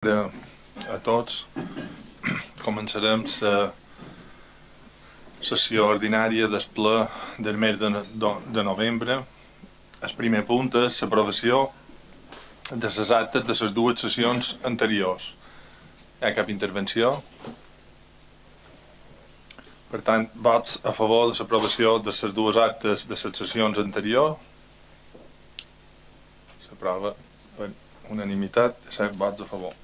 A tots. Començarem la sessió ordinària del ple del mes de novembre. El primer punt és l'aprovació de les actes de les dues sessions anteriors. Hi ha cap intervenció? Per tant, vots a favor de l'aprovació de les dues actes de les sessions anteriors. S'aprova per unanimitat, 7 vots a favor.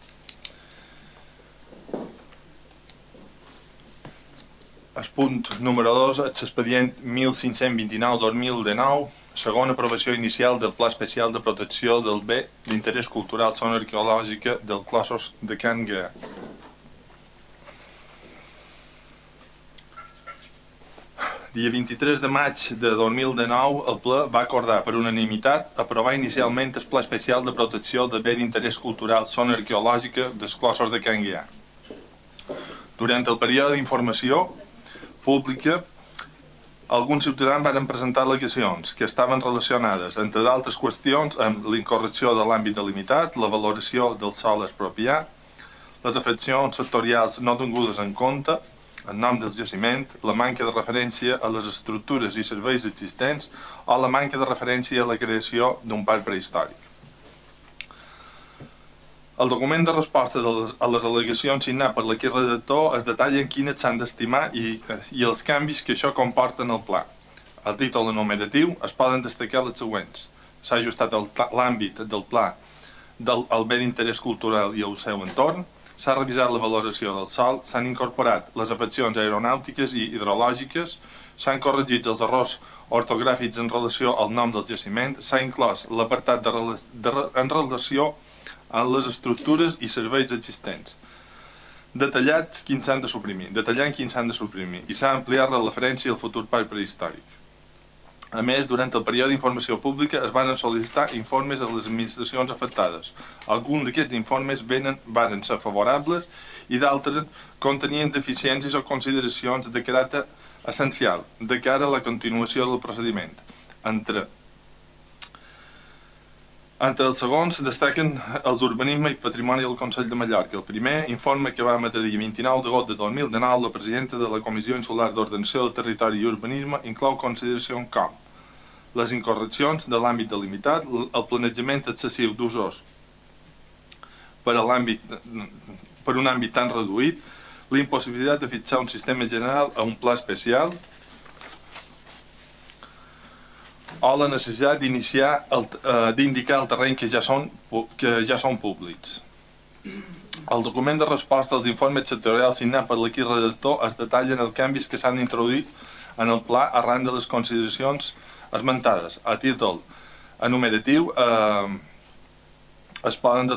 El punt número 2 és l'expedient 1529-2019, segona aprovació inicial del Pla Especial de Protecció del Bé d'Interès Cultural Zona Arqueològica del Clossos de Can Guià. Dia 23 de maig de 2019, el ple va acordar per unanimitat aprovar inicialment el Pla Especial de Protecció del Bé d'Interès Cultural Zona Arqueològica dels Clossos de Can Guià. Durant el període d'informació pública, alguns ciutadans van presentar al·legacions que estaven relacionades, entre d'altres qüestions, amb l'incorrecció de l'àmbit delimitat, la valoració del sòl expropiat, les afeccions sectorials no tingudes en compte, el nom del jaciment, la manca de referència a les estructures i serveis existents o la manca de referència a la creació d'un parc prehistòric. El document de resposta a les al·legacions signat per l'equip redactor es detalla quines s'han d'estimar i els canvis que això comporta en el pla. Al títol enumeratiu es poden destacar les següents. S'ha ajustat l'àmbit del pla al bé d'interès cultural i al seu entorn, s'ha revisat la valoració del sòl, s'han incorporat les afeccions aeronàutiques i hidrològiques, s'han corregit els errors ortogràfics en relació al nom del jaciment, s'ha inclòs l'apartat en relació amb les estructures i serveis existents, detallant quins s'han de suprimir, i s'ha ampliat la referència al futur parc prehistòric. A més, durant el període d'informació pública es van sol·licitar informes a les administracions afectades. Alguns d'aquests informes van ser favorables i d'altres contenien deficiències o consideracions de caràcter essencial de cara a la continuació del procediment. Entre els segons destaquen els d'Urbanisme i Patrimoni del Consell de Mallorca. El primer informe que va emetre dia 29 d'agost de 2019 la presidenta de la Comissió Insular d'Ordenació del Territori i Urbanisme inclou consideracions com les incorreccions de l'àmbit delimitat, el planejament excessiu d'usos per un àmbit tan reduït, la impossibilitat de fixar un sistema general a un pla especial o la necessitat d'indicar el terreny que ja són públics. El document de resposta als informes sectorials signat per l'equip redactor es detallen els canvis que s'han introduït en el pla arran de les consideracions esmentades. A títol enumeratiu es poden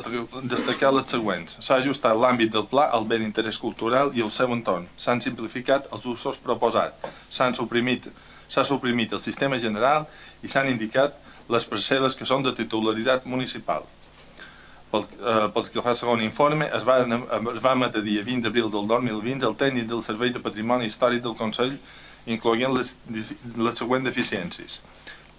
destacar les següents. S'ha ajustat l'àmbit del pla al bé d'interès cultural i el seu entorn. S'han simplificat els usos proposats. S'ha suprimit el sistema general i s'han indicat les parcel·les que són de titularitat municipal. Pel que fa al segon informe, es va emetre dia 20 d'abril del 2020 el tècnic del Servei de Patrimoni Històric del Consell, incloent les següents deficiències.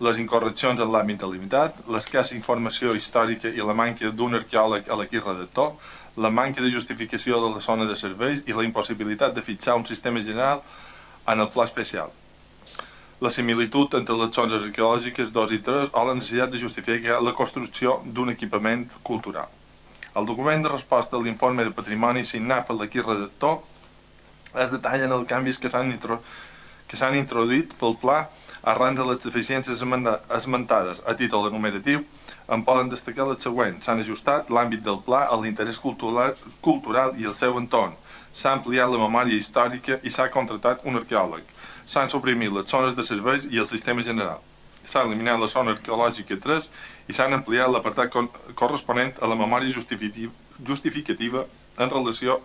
Les incorreccions en l'àmbit delimitat, l'escassa informació històrica i la manca d'un arqueòleg a l'equip redactor, la manca de justificació de la zona de serveis i la impossibilitat de fixar un sistema general en el pla especial. La similitud entre les zones arqueològiques 2 i 3 o la necessitat de justificar la construcció d'un equipament cultural. El document de resposta a l'informe de patrimoni signat per l'equip redactor es detallen els canvis que s'han introduït pel pla arran de les deficiències esmentades. A títol enumeratiu en poden destacar les següents. S'han ajustat l'àmbit del pla a l'interès cultural i el seu entorn. S'ha ampliat la memòria històrica i s'ha contractat un arqueòleg. S'han suprimit les zones de serveis i el sistema general. S'ha eliminat la zona arqueològica 3 i s'han ampliat l'apartat corresponent a la memòria justificativa en relació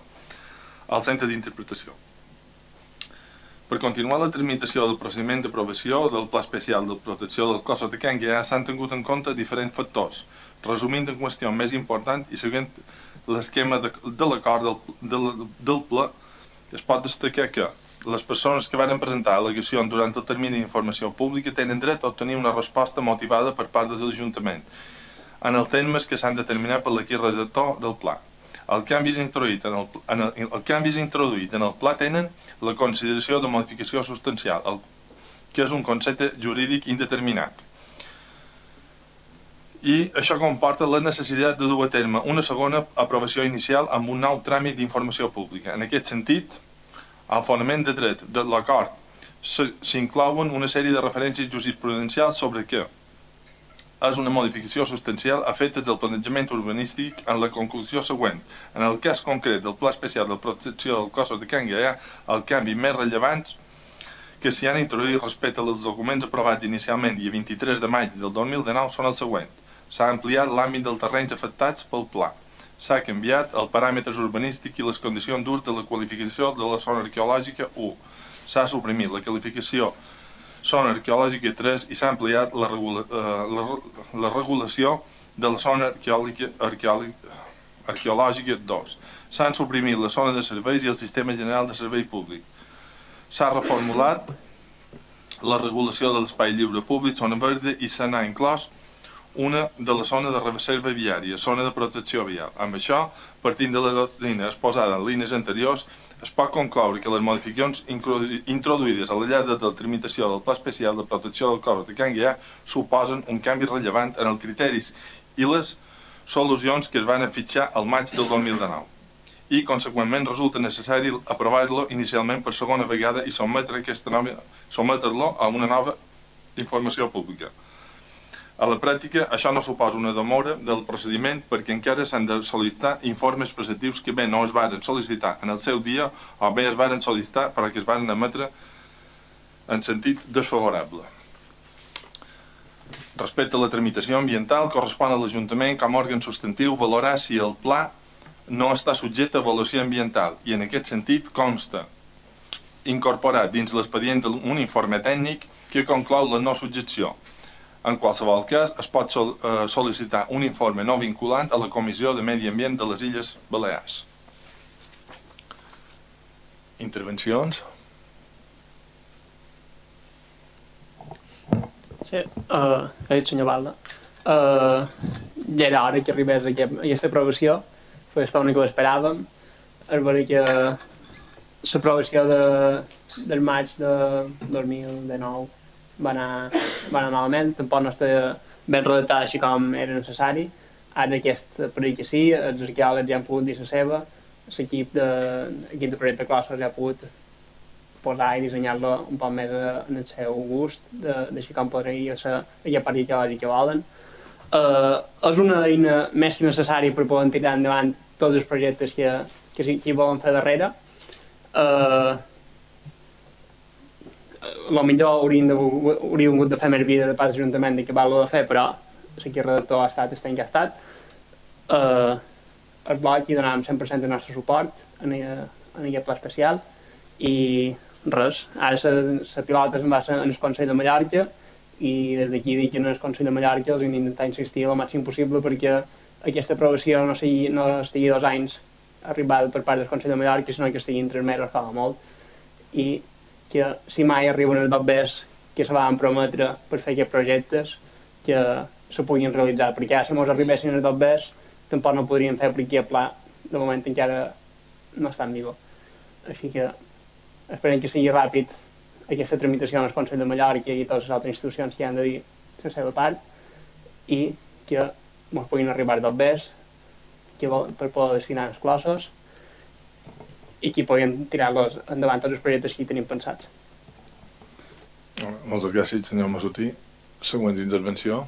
al centre d'interpretació. Per continuar la tramitació del procediment d'aprovació del Pla Especial de Protecció dels Clossos de Can Guià s'han tingut en compte diferents factors. Resumint en qüestió més important i seguint l'esquema de l'acord del pla, es pot destacar que les persones que van presentar al·legacions durant el termini d'informació pública tenen dret a obtenir una resposta motivada per part de l'Ajuntament en els termes que s'han determinat per l'equip redactor del pla. Els canvis introduïts en el pla tenen la consideració de modificació substancial, que és un concepte jurídic indeterminat. I això comporta la necessitat de dur a terme una segona aprovació inicial amb un nou tràmit d'informació pública. En aquest sentit, al fonament de dret de l'acord s'inclouen una sèrie de referències jurisprudencials sobre què és una modificació substancial a efectes del planejament urbanístic en la conclusió següent. En el cas concret del Pla Especial de Protecció dels Cossos de Can Gaià, el canvi més rellevant que s'hi han introduït respecte als documents aprovats inicialment dia 23 de maig del 2019 són els següents. S'ha ampliat l'àmbit dels terrenys afectats pel pla. S'ha canviat els paràmetres urbanístics i les condicions d'ús de la qualificació de la zona arqueològica 1. S'ha suprimit la qualificació zona arqueològica 3 i s'ha ampliat la regulació de la zona arqueològica 2. S'han suprimit la zona de serveis i el sistema general de servei públic. S'ha reformulat la regulació de l'espai lliure públic, zona verda, i se n'ha inclòs una de la zona de reserva viària, zona de protecció vial. Amb això, partint de la doctrina exposada en línies anteriors, es pot concloure que les modificacions introduïdes al llarg de la tramitació del Pla Especial de Protecció del Cos de Can Gaià suposen un canvi rellevant en els criteris i les solucions que es van fixar al maig del 2019 i, conseqüentment, resulta necessari aprovar-lo inicialment per segona vegada i sotmetre-lo a una nova informació pública. A la pràctica, això no suposa una demora del procediment perquè encara s'han de sol·licitar informes preceptius que bé no es varen sol·licitar en el seu dia o bé es varen sol·licitar però que es varen emetre en sentit desfavorable. Respecte a la tramitació ambiental, correspon a l'Ajuntament com a òrgan substantiu valorar si el pla no està subjecte a avaluació ambiental i en aquest sentit consta incorporat dins l'expedient un informe tècnic que conclou la no subjecció. En qualsevol cas, es pot sol·licitar un informe no vinculant a la Comissió de Medi Ambient de les Illes Balears. Intervencions? Sí, ha dit senyor Balda. Ja era hora que arribés aquesta aprovació, fa estona que l'esperàvem. És vera que l'aprovació del maig de 2019 va anar malament, tampoc no estava ben redactada així com era necessari. Ara aquesta perill que sí, els arqueòlegs ja han pogut dir la seva, l'equip de projecte Clossos ja ha pogut posar i dissenyar-lo un poc més en el seu gust, d'així com podria ser aquella part arqueològica que volen. És una eina més que necessària per poder tirar endavant tots els projectes que hi volen fer darrere. Potser hauríem hagut de fer més vida de part de l'Ajuntament d'acabar-lo de fer, però l'equip redactor ha estat el que ha estat. El bloc hi donàvem 100% del nostre suport en aquest pla especial i res, ara la pilota se'n va en el Consell de Mallorca i des d'aquí dic que en el Consell de Mallorca els hem d'intentar insistir el màxim possible perquè aquesta aprovació no estigui 2 anys arribada per part del Consell de Mallorca, sinó que estiguin 3 mesos com a molt i que si mai arriben els dobbers que se van prometre per fer aquests projectes que se puguin realitzar, perquè ara si ens arribessin els dobbers tampoc no podríem fer perquè aquest pla de moment encara no està en vigor. Així que esperem que sigui ràpid aquesta tramitació en el Consell de Mallorca i totes les altres institucions que han de dir la seva part i que ens puguin arribar dobbers per poder destinar els Clossos i que puguin tirar-los endavant tots els projectes que hi tenim pensats. Moltes gràcies, senyor Masutí. Següent intervenció.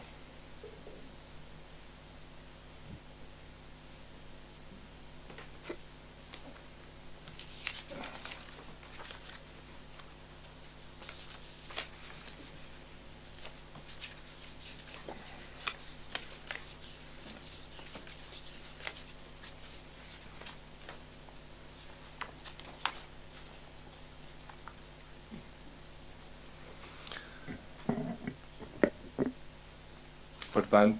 Per tant,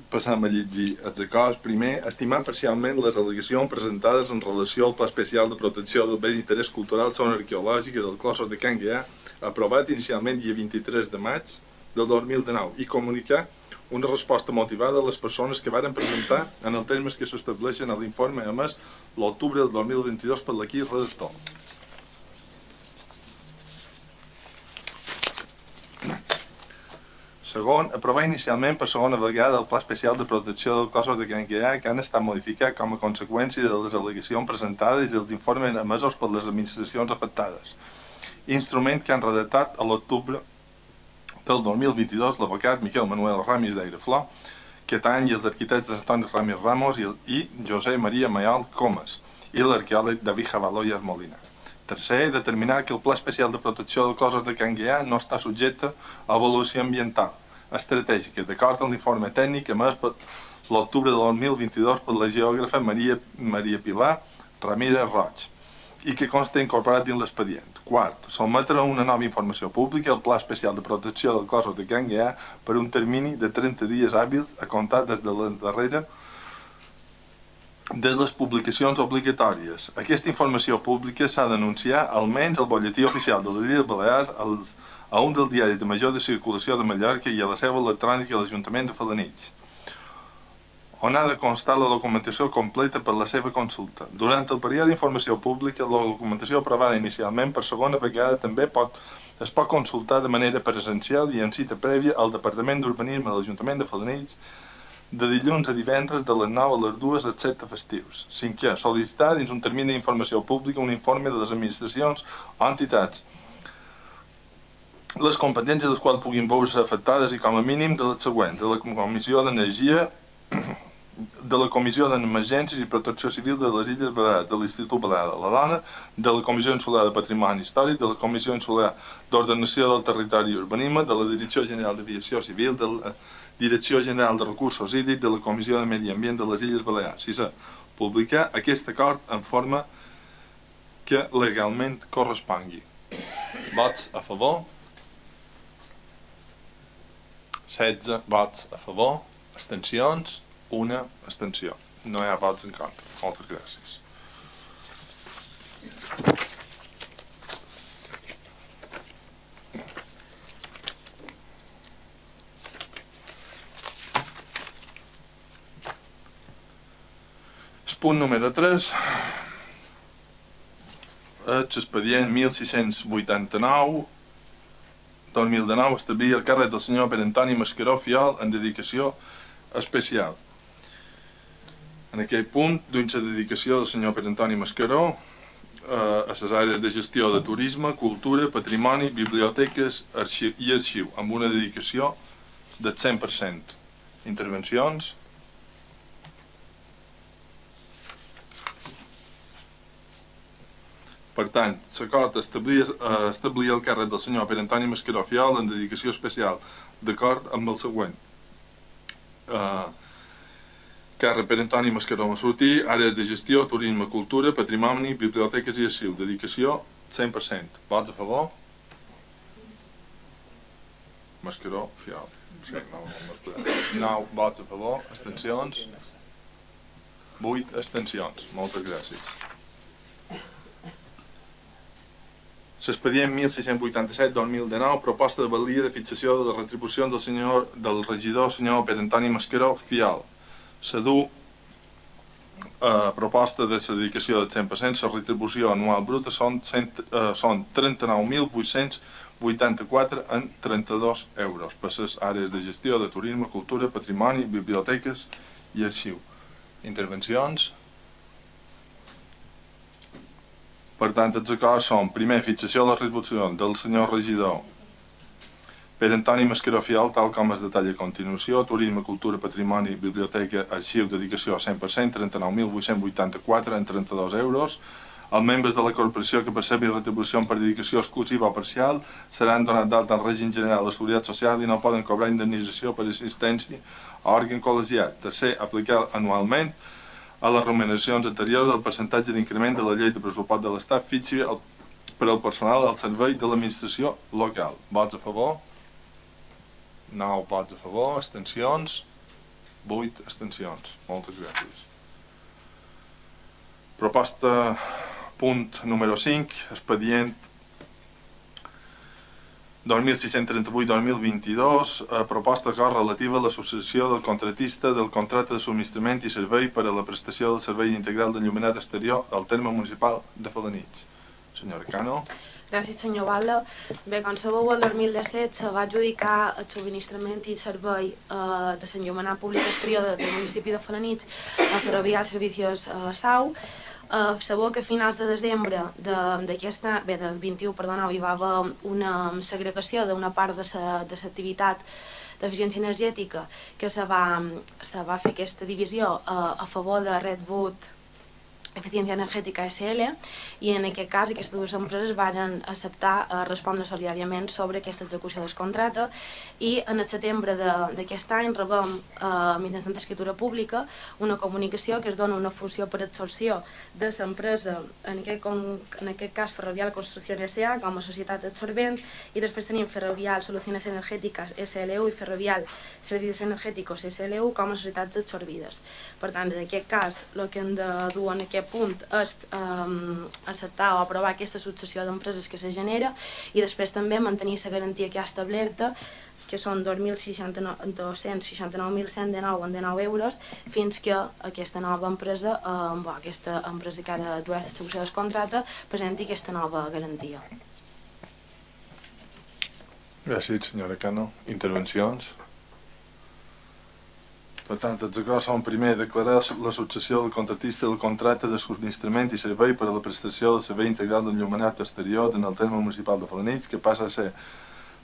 passam a llegir els acords. Primer, estimar parcialment les al·legacions presentades en relació al Pla Especial de Protecció del Bé d'Interès Cultural Zona Arqueològica del Clossos de Can Gaià, aprovat inicialment dia 23 de maig del 2019, i comunicar una resposta motivada a les persones que varen presentar en els termes que s'estableixen a l'informe emès l'octubre del 2022 per l'equip redactor. Segon, aprovar inicialment per segona vegada el Pla Especial de Protecció dels Cossos de Can Gaià que han estat modificat com a conseqüència de les al·legacions presentades i dels informes emesos per les administracions afectades. Instrument que han redactat a l'octubre del 2022 l'advocat Miquel Manuel Ramis d'Aireflor, Quetany i els arquitectes Antoni Ramis Ramos i José María Mayol Comas i l'arqueòleg David Jabaloyas Molina. Tercer, determinar que el Pla Especial de Protecció dels Cossos de Can Gaià no està subjecte a avaluació ambiental estratègica, d'acord amb l'informe tècnic emès per l'octubre del 2022 per la geògrafa Maria Pilar Ramírez Roig i que consta incorporat dins l'expedient. Quart, sotmetre una nova informació pública al Pla Especial de Protecció dels Cossos de Can Gaià per un termini de 30 dies hàbils a comptar des de la darrera de les publicacions obligatòries. Aquesta informació pública s'ha d'anunciar almenys al Bolletí Oficial de les Illes Balears, a un dels diaris de major de circulació de Mallorca i a la seu electrònica de l'Ajuntament de Felanitx, on ha de constar la documentació completa per la seva consulta. Durant el període d'informació pública, la documentació aprovada inicialment per segona vegada també es pot consultar de manera presencial i en cita prèvia al Departament d'Urbanisme de l'Ajuntament de Felanitx de dilluns a divendres de les 9 a les 2 excepte festius. Cinquè, sol·licitar dins un termini d'informació pública un informe de les administracions o entitats les competències de les quals puguin veure afectades i com a mínim de les següents: de la Comissió d'Energia, de la Comissió d'Emergències i Protecció Civil de les Illes Balears, de l'Institut Balear de la Dona, de la Comissió Insular de Patrimoni Històric, de la Comissió Insular d'Ordenació del Territori i Urbanisme, de la Direcció General d'Aviació Civil, de la Direcció General de Recursos Hídrics, de la Comissió de Medi Ambient de les Illes Balears. Sisè, publicar aquest acord en forma que legalment correspongui. Vots a favor? 16 vots a favor, abstencions, una abstenció. No hi ha vots en contra. Moltes gràcies. El punt número 3, l'expedient 1689, 2019, establir el càrrec del senyor Pere Antoni Mascaró Fiol en dedicació especial. En aquell punt, duint la dedicació del senyor Pere Antoni Mascaró a les àrees de gestió de turisme, cultura, patrimoni, biblioteques i arxiu, amb una dedicació del 100%. Intervencions? Per tant, l'acord establir el càrrec del senyor Pere Antoni Mascaró Fiol en dedicació especial, d'acord amb el següent. Càrrec Pere Antoni Mascaró Massortí, àrees de gestió, turisme, cultura, patrimoni, biblioteques i arxiu. Dedicació 100%. Vots a favor? Mascaró Fiol. Sí, 9 vots a favor. Abstencions? 8 abstencions. Moltes gràcies. L'expedient 1687-2019, proposta de valia de fixació de les retribucions del regidor senyor Pere Antoni Mascaró Fiol. S'adú proposta de la dedicació del 100%, la retribució anual bruta són 39.884 en 32 euros per les àrees de gestió de turisme, cultura, patrimoni, biblioteques i arxiu. Intervencions? Per tant, els acords són, primer, fixació de les retribucions del senyor regidor Pere Antoni Mascaró Fiol, tal com es detalla a continuació: turisme, cultura, patrimoni, biblioteca, arxiu, dedicació 100%, 39.884 en 32 euros. Els membres de la corporació que percebin retribució per dedicació exclusiva o parcial seran donats d'alta en règim general de seguretat social i no poden cobrar indemnització per assistència a òrgan col·legiat. Tercer, aplicar anualment a les remuneracions anteriors el percentatge d'increment de la llei de pressupost de l'Estat fixi per al personal al servei de l'administració local. Vots a favor? 9 vots a favor, abstencions? 8 abstencions. Moltes gràcies. Proposta punt número 5, expedient 2638-2022, proposta d'acord relativa a l'associació del contratista del contracte de subministrament i servei per a la prestació del servei integral d'enllumenat exterior al terme municipal de Felanitx. Senyora Cano. Gràcies, senyor Batlle. Bé, com sabeu, el 2017 se va adjudicar el subministrament i servei de l'enllumenat públic exterior del municipi de Felanitx a Ferrovial Servicios Sau. Sabeu que a finals de desembre del 21, hi va haver una segregació d'una part de l'activitat d'eficiència energètica que se va fer aquesta divisió a favor de Redwood Eficiència Energètica SL, i en aquest cas aquestes dues empreses van acceptar respondre solidàriament sobre aquesta execució del contracte, i en el setembre d'aquest any rebem mitjançant escriptura pública una comunicació que es dona una funció per absorció de l'empresa, en aquest cas Ferrovial Construcción S.A. com a societat absorbent, i després tenim Ferrovial Soluciones Energéticas SLU i Ferrovial Servicios Energéticos SLU com a societats absorbides. Per tant, en aquest cas, el que hem de dur en aquest punt és acceptar o aprovar aquesta successió d'empreses que se genera, i després també mantenir la garantia que ha establerta, que són 269.119 euros, fins que aquesta nova empresa, aquesta empresa que ara durà l'execució del contracte, presenti aquesta nova garantia. Gràcies, senyora Cano. Intervencions? Per tant, els acords són: primer, declarar la successió del contractista del contracte de subministrament i servei per a la prestació del servei integral d'enllumenat exterior en el terme municipal de Felanitx, que passa a ser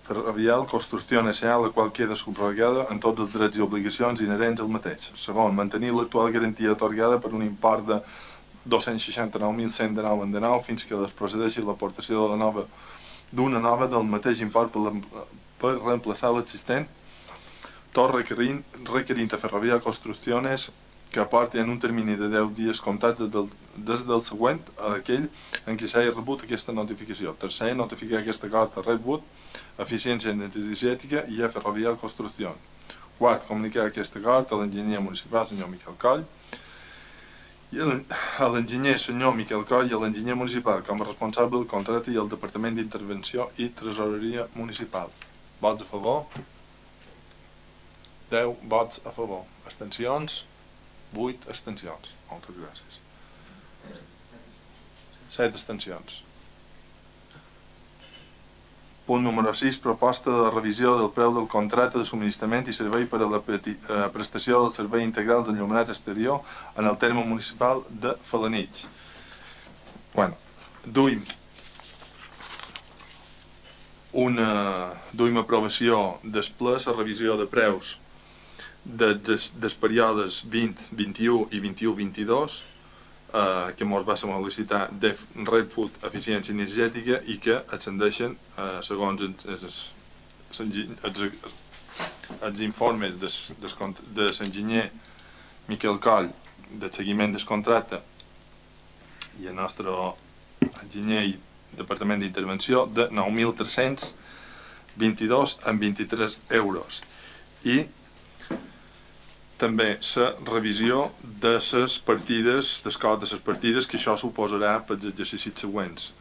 Ferrovial Construcción S.A., la qual queda subrogada en tots els drets i obligacions inherents al mateix. Segon, mantenir l'actual garantia atorgada per un import de 269.119 fins que es procedeixi l'aportació d'una nova del mateix import per reemplaçar l'existent, tot requerint a Ferrovial Construcciones que aporti en un termini de 10 dies comptats des del següent a aquell en què s'hagi rebut aquesta notificació. Tercer, notificar aquest acord a Redwood Eficiència Energètica i a Ferrovial Construcción. Quart, comunicar aquest acord a l'enginyer municipal, senyor Miquel Coll, i a l'enginyer senyor Miquel Coll i a l'enginyer municipal com a responsable del contracte i al Departament d'Intervenció i Tresoreria Municipal. Vots a favor? 10 vots a favor. Abstencions? 8 abstencions. Moltes gràcies. 7 abstencions. Punt número 6. Proposta de revisió del preu del contracte de subministrament i servei per a la prestació del servei integral d'enllumenat exterior en el terme municipal de Felanitx. Duim aprovació després la revisió de preus dels períodes 20, 21 i 21-22 que ens va sol·licitar de Redwood Eficiència Energètica i que ascendeixen, segons els informes de l'enginyer Miquel Coll del seguiment del contracte i el nostre enginyer i Departament d'Intervenció, de 9.322,23 euros. I també la revisió de les partides, del cost de les partides, que això suposarà pels exercicis següents,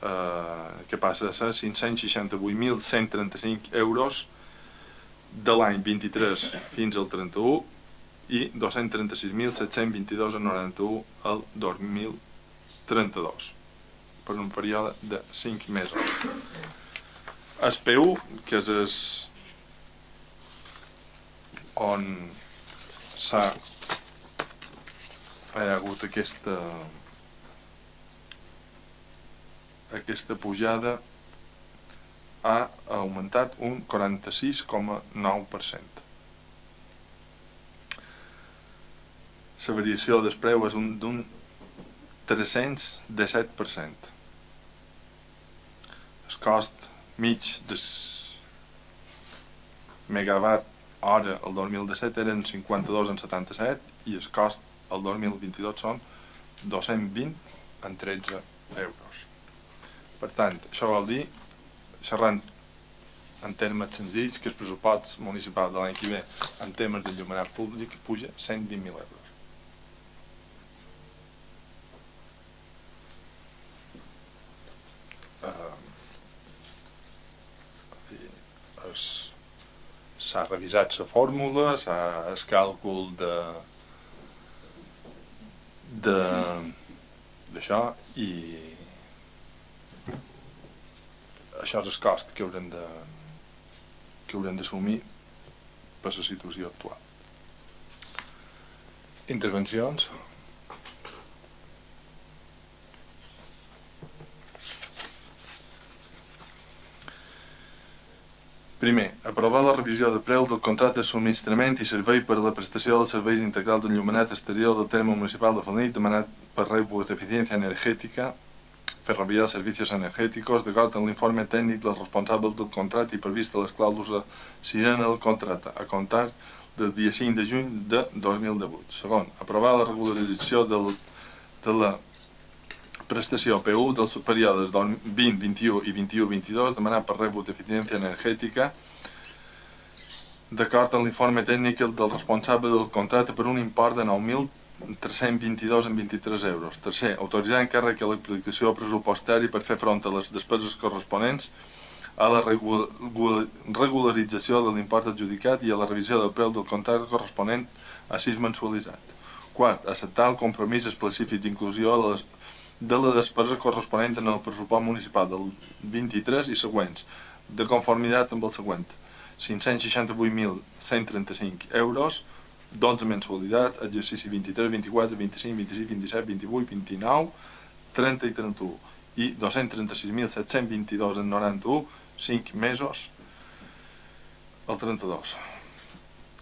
que passa a ser 568.135 euros de l'any 23 fins al 31 i 236.722,91 al 2032, per un període de 5 mesos. El PU, que és on s'ha hagut aquesta pujada, ha augmentat un 46,9%. La variació del preu és d'un 317%. El cost mig del megawatt hora el 2017 eren 52,77 i el cost el 2022 són 220,13 euros. Per tant, això vol dir, xerrant en termes senzills, que el pressupost municipal de l'any que ve en temes d'enllumenat públic puja 120.000 euros. s'ha revisat la fórmula, el càlcul d'això i això és el cost que haurem d'assumir per la situació actual. Intervencions? Primer, aprovar la revisió de preu del contracte de subministrament i servei per a la prestació dels serveis integrals d'enllumenat exterior del terme municipal de Felanitx demanat per Reus de Eficiencia Energética Ferrovial Servicios Energéticos d'acord amb l'informe tècnic dels responsables del contracte i previst a les clàusules sisena del contracte a comptar del dia 5 de juny de 2018. Segon, aprovar la regularització de la prestació PU dels períodes 2021 i 21-22 demanat per Reus d'Eficiència Energètica d'acord amb l'informe tècnic del responsable del contracte per un import de 9.322,23 euros. Tercer, autoritzar encàrrec a l'aplicació pressupostària per fer front a les despeses corresponents a la regularització de l'import adjudicat i a la revisió del preu del contracte corresponent a 6 mensualitzat. Quart, acceptar el compromís específic d'inclusió de la despesa corresponent en el pressupost municipal del 23 i següents, de conformitat amb el següent: 568.135 euros, 12 mensualitats, exercici 23, 24, 25, 26, 27, 28, 29, 30 i 31, i 236.722,91, 5 mesos, el 32.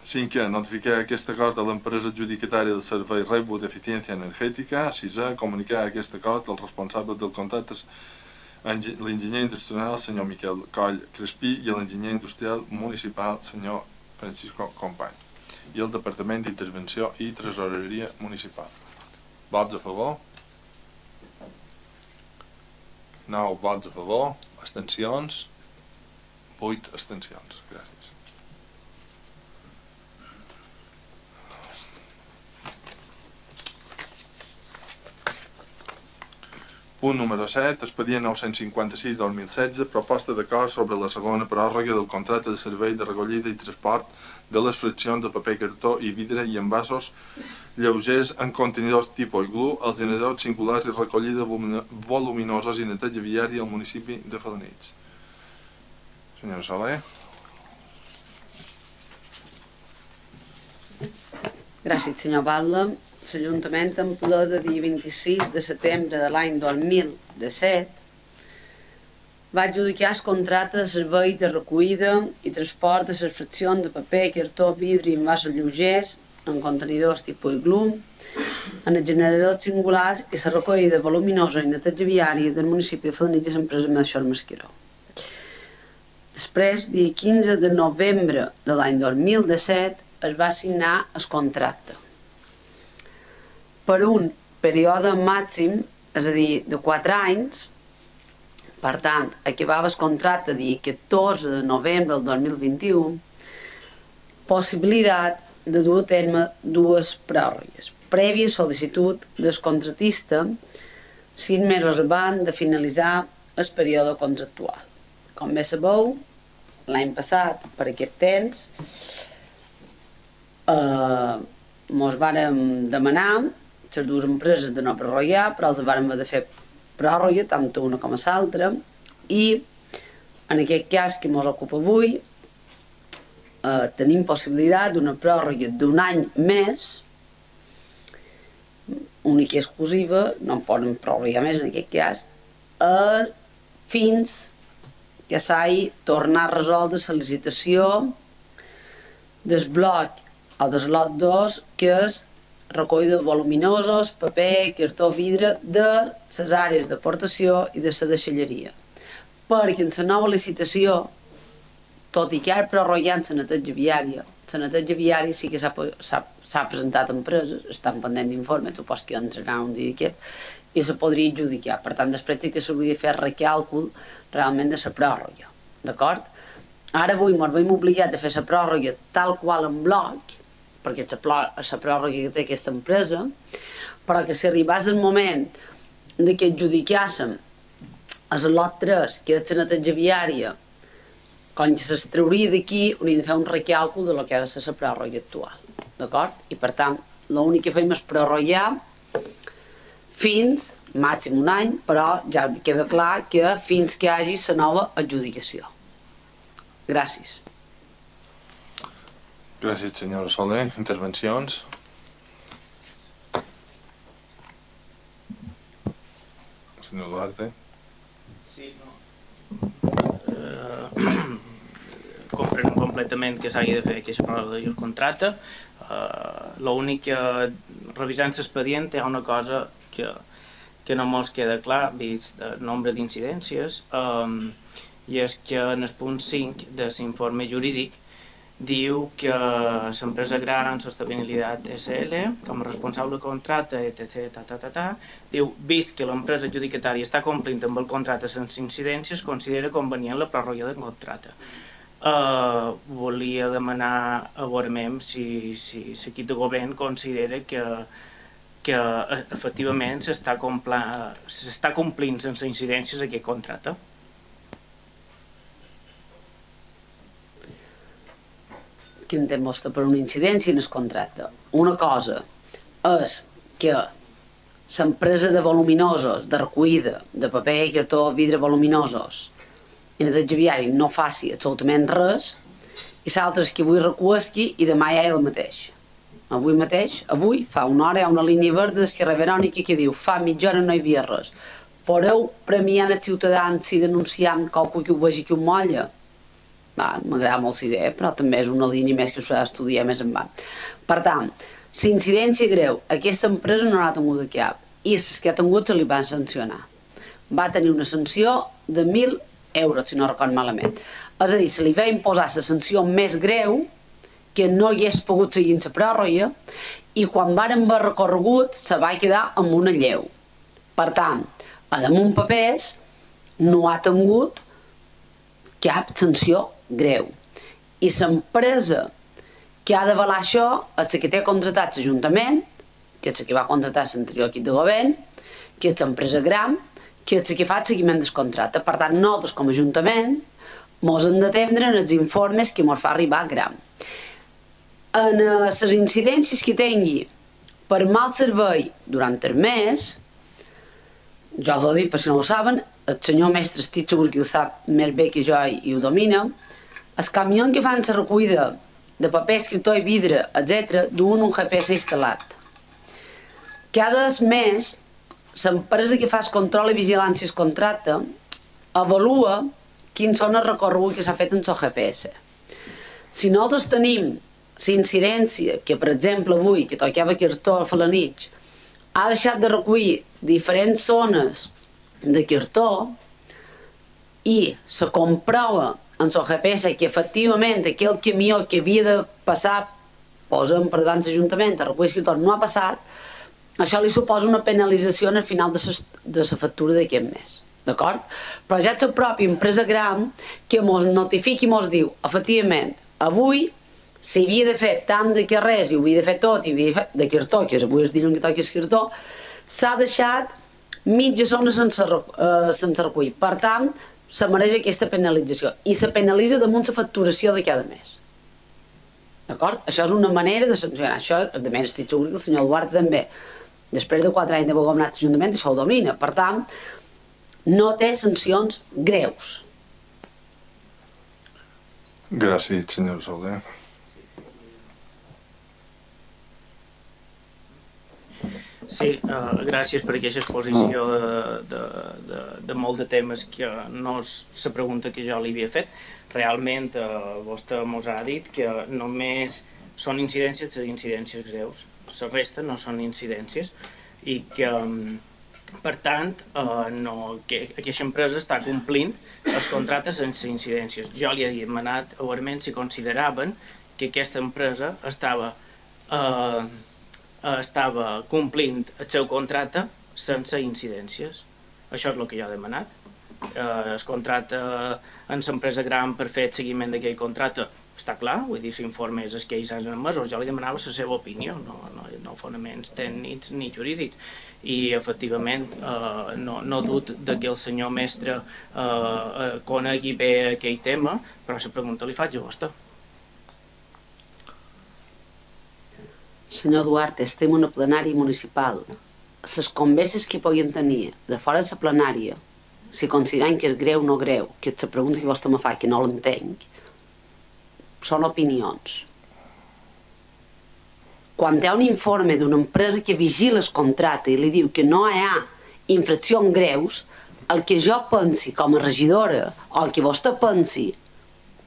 Cinquè, notificar aquest acord a l'empresa adjudicatària del servei Reus d'Eficiència Energètica. Sisè, comunicar aquest acord als responsables del contracte, l'enginyer industrial, senyor Miquel Coll Crespí, i l'enginyer industrial municipal, senyor Francisco Company, i el Departament d'Intervenció i Tresoreria Municipal. Vots a favor? 9 vots a favor, abstencions, 8 abstencions. Gràcies. Punt número 7, expedient 956-2016, proposta d'acord sobre la segona pròrroga del contracte de servei de recollida i transport de les fraccions de paper, cartó i vidre i envasos lleugers en contenidors tipus iglú, els generadors singulars i recollida voluminosos i neteja viària al municipi de Felanitx. Senyora Soler. Gràcies, senyor Batlle. L'Ajuntament, en ple de dia 26 de setembre de l'any 2017, va adjudicar el contracte de servei de recollida i transport de les fraccions de paper, cartó, vidre i envasos lleugers en contenidors tipus iglú, en els generadors singulars i la recollida voluminosa i neteja viària del municipi de Felanitx i l'empresa Melchor Masqueró. Després, dia 15 de novembre de l'any 2017, es va signar el contracte per un període màxim, és a dir, de 4 anys. Per tant, acabava el contracte dia 14 de novembre del 2021, possibilitat de dur a terme 2 pròrrogues, prèvia sol·licitud del contratista 6 mesos abans de finalitzar el període contractual. Com bé sabeu, l'any passat, per aquest temps, ens vàrem demanar les 2 empreses de no prorrogar, però els vàrem haver de fer pròrroga, tant una com l'altra, i en aquest cas que ens ocupa avui, tenim possibilitat d'una pròrroga d'un any més, única i exclusiva, no en poden prorrogar més en aquest cas, fins que s'hagi tornat a resoldre la licitació del bloc o del lot 2, que és recollida de voluminosos, paper, cartó, vidre de les àrees d'aportació i de la deixalleria. Perquè en la nova licitació, tot i que ara prorrogant la neteja viària sí que s'ha presentat a empreses, estan pendent d'informes, supos que entrarà un dia d'aquest, i se podria adjudicar. Per tant, després sí que s'hauria de fer recàlcul realment de la pròrroga. D'acord? Ara avui ens veiem obligats a fer la pròrroga tal qual en bloc, perquè és la pròrroga que té aquesta empresa, però que si arribés el moment que adjudicàssim el lot 3, que és la neteja viària, com que s'extrauria d'aquí, hauríem de fer un recàlcul de lo que ha de ser la pròrroga actual, d'acord? I per tant, l'únic que fem és prorrogar fins màxim un any, però ja queda clar que fins que hi hagi la nova adjudicació. Gràcies. Gràcies, senyora Soler. Intervencions? Senyor Duarte. Sí, no. Compreno completament que s'hagi de fer aquesta prova del contracte. L'únic que, revisant l'expedient, hi ha una cosa que no mos queda clar, vist el nombre d'incidències, i és que en el punt 5 de l'informe jurídic diu que l'empresa Gran Sostenibilitat SL, com a responsable del contracte, etc., diu, vist que l'empresa adjudicatària està complint amb el contracte sense incidències, considera convenient la pròrroga del contracte. Volia demanar a veure si l'equip de govern considera que efectivament s'està complint sense incidències aquest contracte. Què entén vostè per una incidència en el contracte? Una cosa és que l'empresa de voluminosos, de recollida, de paper, cartó, vidre voluminosos, i el viari no faci absolutament res, i l'altre és que avui recuesqui i demà ja és el mateix. Avui mateix, fa una hora, hi ha una línia verda d'Esquerra Verònica que diu fa mitja hora no hi havia res. Podeu premiar els ciutadans si denunciem qualcú que ho vegi que ho molla? M'agrada molt la idea, però també és una línia més que s'ha d'estudiar més endavant. Per tant, la incidència greu, aquesta empresa no l'ha tingut de cap, i les que ha tingut se li van sancionar. Va tenir una sanció de 1.000 euros, si no record malament. És a dir, se li va imposar la sanció més greu, que no hi hagués pogut seguir la pròrroga, i quan varen haver recorregut se va quedar amb una lleu. Per tant, a damunt papers no ha tingut cap sanció greu. I l'empresa que ha d'avalar això és la que té contratat l'Ajuntament, que és la que va contratar l'anterior equip de govern, que és l'empresa Gran, que és la que fa el seguiment del contracte. Per tant, nosaltres com a Ajuntament ens hem d'atendre en els informes que ens fa arribar Gran. En les incidències que tingui per mal servei durant el mes, jo us ho dic per si no ho saben, el senyor mestre estic segur que ho sap més bé que jo i ho domina, els camions que fan la recollida de paper, escriptor i vidre, etc., duen un GPS instal·lat. Cada mes, l'empresa que fa el control i vigilància del contracte avalua quins són els recorreguts que s'ha fet en el GPS. Si nosaltres tenim la incidència que, per exemple, avui, que tocava cartó a la nit, ha deixat de recollir diferents zones de cartó i se comprova en el GPS que efectivament aquell camió que havia de passar, posem per davant l'Ajuntament a recollir cartó, no ha passat, això li suposa una penalització al final de la factura d'aquest mes. D'acord? Però ja és la pròpia empresa Gran que ens notifica i ens diu, efectivament, avui si havia de fer tant de carrers i ho havia de fer tot, i havia de fer de cartó, que avui es diuen que toqui el cartó, s'ha deixat mitja zona sense recollir. Per tant, se mereix aquesta penalització. I se penalitza damunt la facturació de cada mes. D'acord? Això és una manera de sancionar. Això, a més, estic segur que el senyor Duarte també, després de 4 anys d'haver governat l'Ajuntament, això ho domina. Per tant, no té sancions greus. Gràcies, senyor Soler. Sí, gràcies per aquesta exposició de molt de temes que no és la pregunta que jo li havia fet. Realment, vostè ens ha dit que només són incidències de incidències greus. La resta no són incidències i que, per tant, aquesta empresa està complint els contractes sense incidències. Jo li he demanat a Verment si consideraven que aquesta empresa estava complint el seu contracte sense incidències. Això és el que jo he demanat. El contracte en l'empresa Gran per fer el seguiment d'aquell contracte està clar, vull dir, l'informe és el que ells han emesos, jo li demanava la seva opinió, no fonaments tècnics ni jurídics, i efectivament no dubto que el senyor mestre conegui bé aquell tema, però la pregunta li faig a vostè. Senyor Duarte, estem en una plenària municipal. Les converses que podien tenir de fora de la plenària, si consideren que és greu o no greu, que és la pregunta que vostè me fa, que no l'entenc, són opinions. Quan hi ha un informe d'una empresa que vigila el contracte i li diu que no hi ha infraccions greus, el que jo pensi com a regidora o el que vostè pensi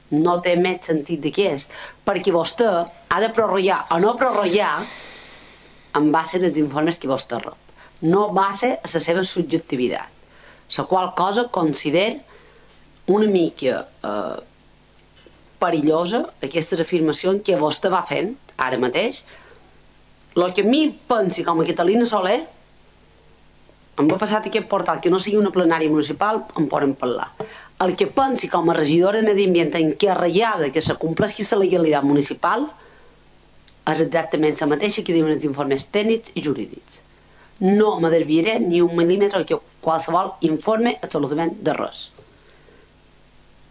no té més sentit d'aquest, perquè vostè ha de prorrogar o no prorrogar en base als informes que vostè rep, no base a la seva subjectivitat, la qual cosa considera una mica perillosa aquestes afirmacions que vostè va fent ara mateix. El que a mi pensi com a Catalina Soler, em va passar aquest portal, que no sigui una plenària municipal, en podem parlar. El que pensi com a regidora de Medi Ambient encarregada que se compleixi la legalitat municipal és exactament la mateixa que diuen els informes tècnics i jurídics. No me desviaré ni un mil·límetre de qualsevol informe absolutament de res.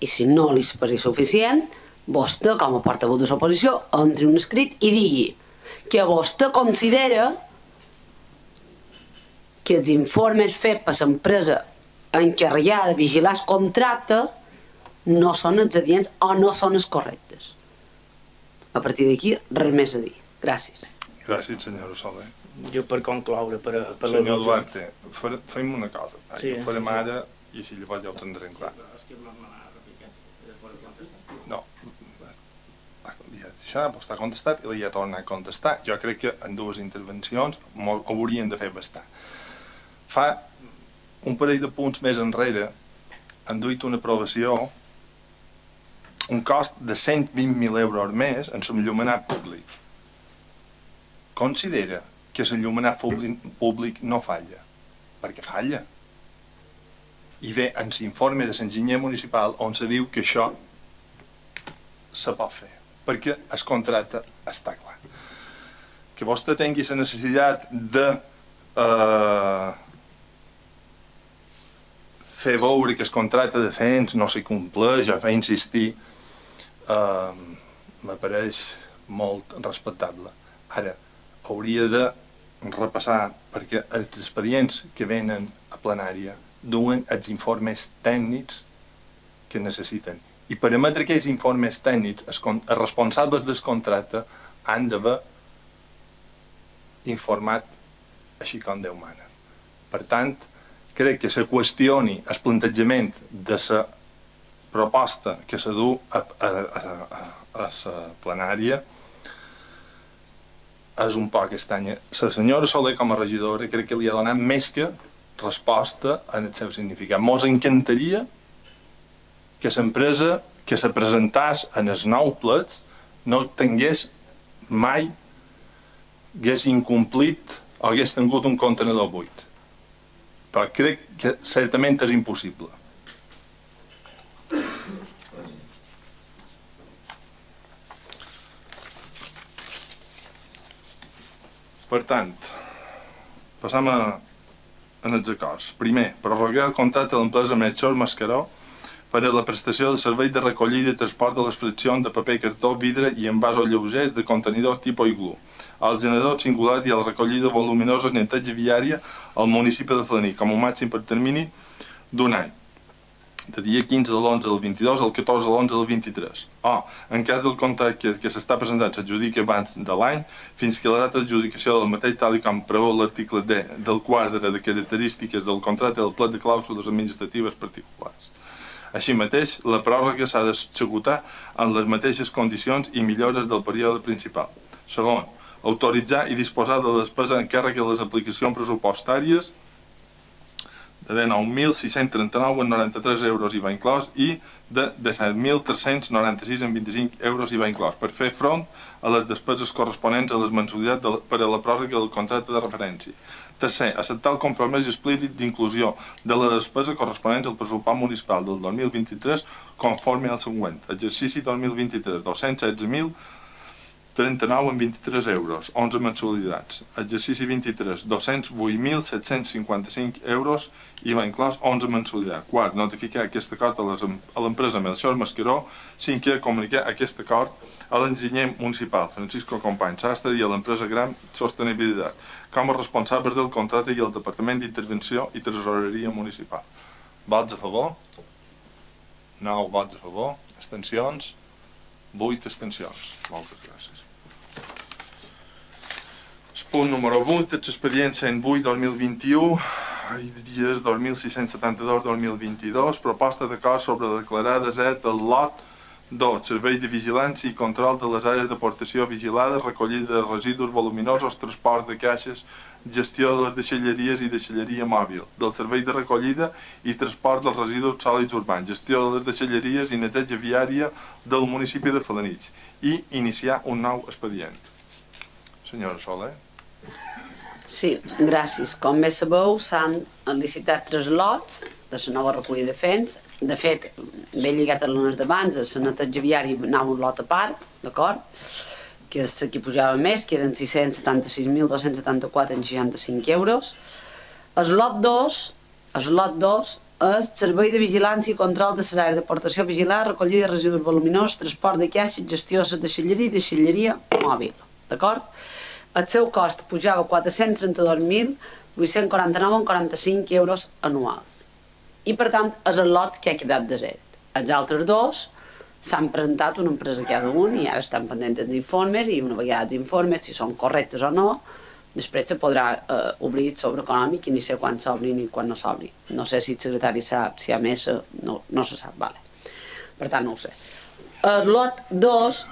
I si no li pareix suficient, vostè, com a portaveu de l'oposició, entri un escrit i digui que vostè considera que els informes fets per l'empresa encarregada de vigilar el contracte no són els adients o no són els correctes. A partir d'aquí, res més a dir. Gràcies. Gràcies, senyora Soler. Jo per concloure, per la... Senyor Duarte, fem una cosa. Ho farem ara i així llavors ja ho tindrem clar. No. Això està contestat i ja torna a contestar. Jo crec que en dues intervencions ho haurien de fer bastant. Fa un parell de punts més enrere han duit una aprovació un cost de 120.000 euros més en l'enllumenat públic. Considera que l'enllumenat públic no falla, perquè falla. I ve en l'informe de l'enginyer municipal on se diu que això se pot fer, perquè el contracte està clar. Que vostè tingui la necessitat de fer veure que el contracte de FENS no s'hi compleix, a fer insistir, m'apareix molt respectable. Ara, hauria de repassar, perquè els expedients que venen a plenària duen els informes tècnics que necessiten. I per emetre aquells informes tècnics, els responsables del contracte han d'haver informat així com Déu mana. Per tant, crec que se qüestioni el plantejament de la proposta que se du a la plenària és un poc estranya. La senyora Soler, com a regidora, crec que li ha donat més que resposta en el seu significat. Mos encantaria que l'empresa que se presentàs en els nou plets no tingués mai, hagués incomplit o hagués tingut un contenidor buit. Però crec que certament és impossible. Per tant, passam en els acords. Primer, prorrogar el contracte de l'empresa Melchor Mascaró per a la prestació de servei de recollida i transport de les fraccions de paper, cartó, vidre i envasos lleugers de contenidor tipus iglú, als generadors singulars i a la recollida voluminosa i neteja viària al municipi de Falaní, com a màxim per termini d'un any, de dia 15 de l'11 del 22 al 14 de l'11 del 23. O, en cas del contracte que s'està presentant s'adjudica abans de l'any, fins que la data d'adjudicació del mateix, tal com preveu l'article D del quadre de característiques del contracte del plet de clàusules administratives particulars. Així mateix, la pròrroga s'ha d'executar en les mateixes condicions i millores del període principal. Segon, autoritzar i disposar de la despesa en càrrec de les aplicacions pressupostàries de 19.639,93 euros IVA inclòs i de 17.396,25 euros IVA inclòs per fer front a les despeses corresponents a les mensualitats per a la pròrroga del contracte de referència. Tercer, acceptar el compromís explícit d'inclusió de la despesa corresponent al pressupost municipal del 2023 conforme al següent. Exercici 2023, 216.039,23 euros, 11 mensualitats. Exercici 23, 208.755 euros, IVA inclòs, 11 mensualitats. Quart, notificar aquest acord a l'empresa Melcior Mascaró. Cinquè, comunicar aquest acord a l'enginyer municipal Francisco Company Sastre i a l'empresa Gran Sostenibilitat com a responsables del contracte i el Departament d'Intervenció i Tresoreria Municipal. Vots a favor? 9 vots a favor. Abstencions? 8 abstencions. Moltes gràcies. El punt número 8, l'expedient 108-2021 i dies 2672-2022, proposta d'acord sobre declarar desert el lot 2. Servei de vigilància i control de les àrees d'aportació vigilades, recollida de residus voluminosos, transport de caixes, gestió de les deixalleries i deixalleria mòbil, del servei de recollida i transport dels residus sòlids urbans, gestió de les deixalleries i neteja viària del municipi de Felanitx i iniciar un nou expedient. Senyora Soler. Sí, gràcies. Com bé sabeu, s'han licitat 3 lots de la nova recollida de fens. De fet, ben lligat a les d'abans, a la neteja viària anava un lot a part, d'acord? Que és la que pujava més, que eren 676.274,65 euros. El lot 2 és servei de vigilància i control de les àrees d'aportació vigilada, recollida de residus voluminosos, transport de caixes, gestió de la deixalleria i deixalleria mòbil, d'acord? El seu cost pujava 432.849,45 euros anuals. I, per tant, és el lot que ha quedat desert. Els altres dos s'han presentat una empresa cada un i ara estan pendents d'informes i una vegada els informes, si són correctes o no, després se podrà obrir el sobre econòmic i ni sé quan s'obrin i quan no s'obri. No sé si el secretari sap, si hi ha més, no se sap, vale. Per tant, no ho sé. El lot 2,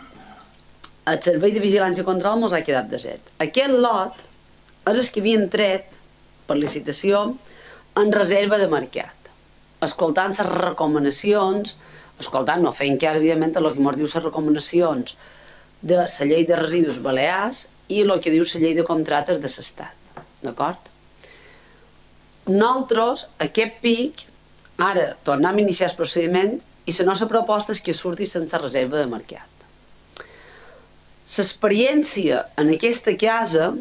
el servei de vigilància i control mos ha quedat desert. Aquest lot és el que havien tret per licitació en reserva de mercat, escoltant les recomanacions, no fent cas, evidentment, el que ens diu les recomanacions de la llei de residus balears i el que diu la llei de contractes de l'Estat, d'acord? Nosaltres, aquest pic, ara tornem a iniciar el procediment i la nostra proposta és que surti sense reserva de mercat. L'experiència en aquesta casa,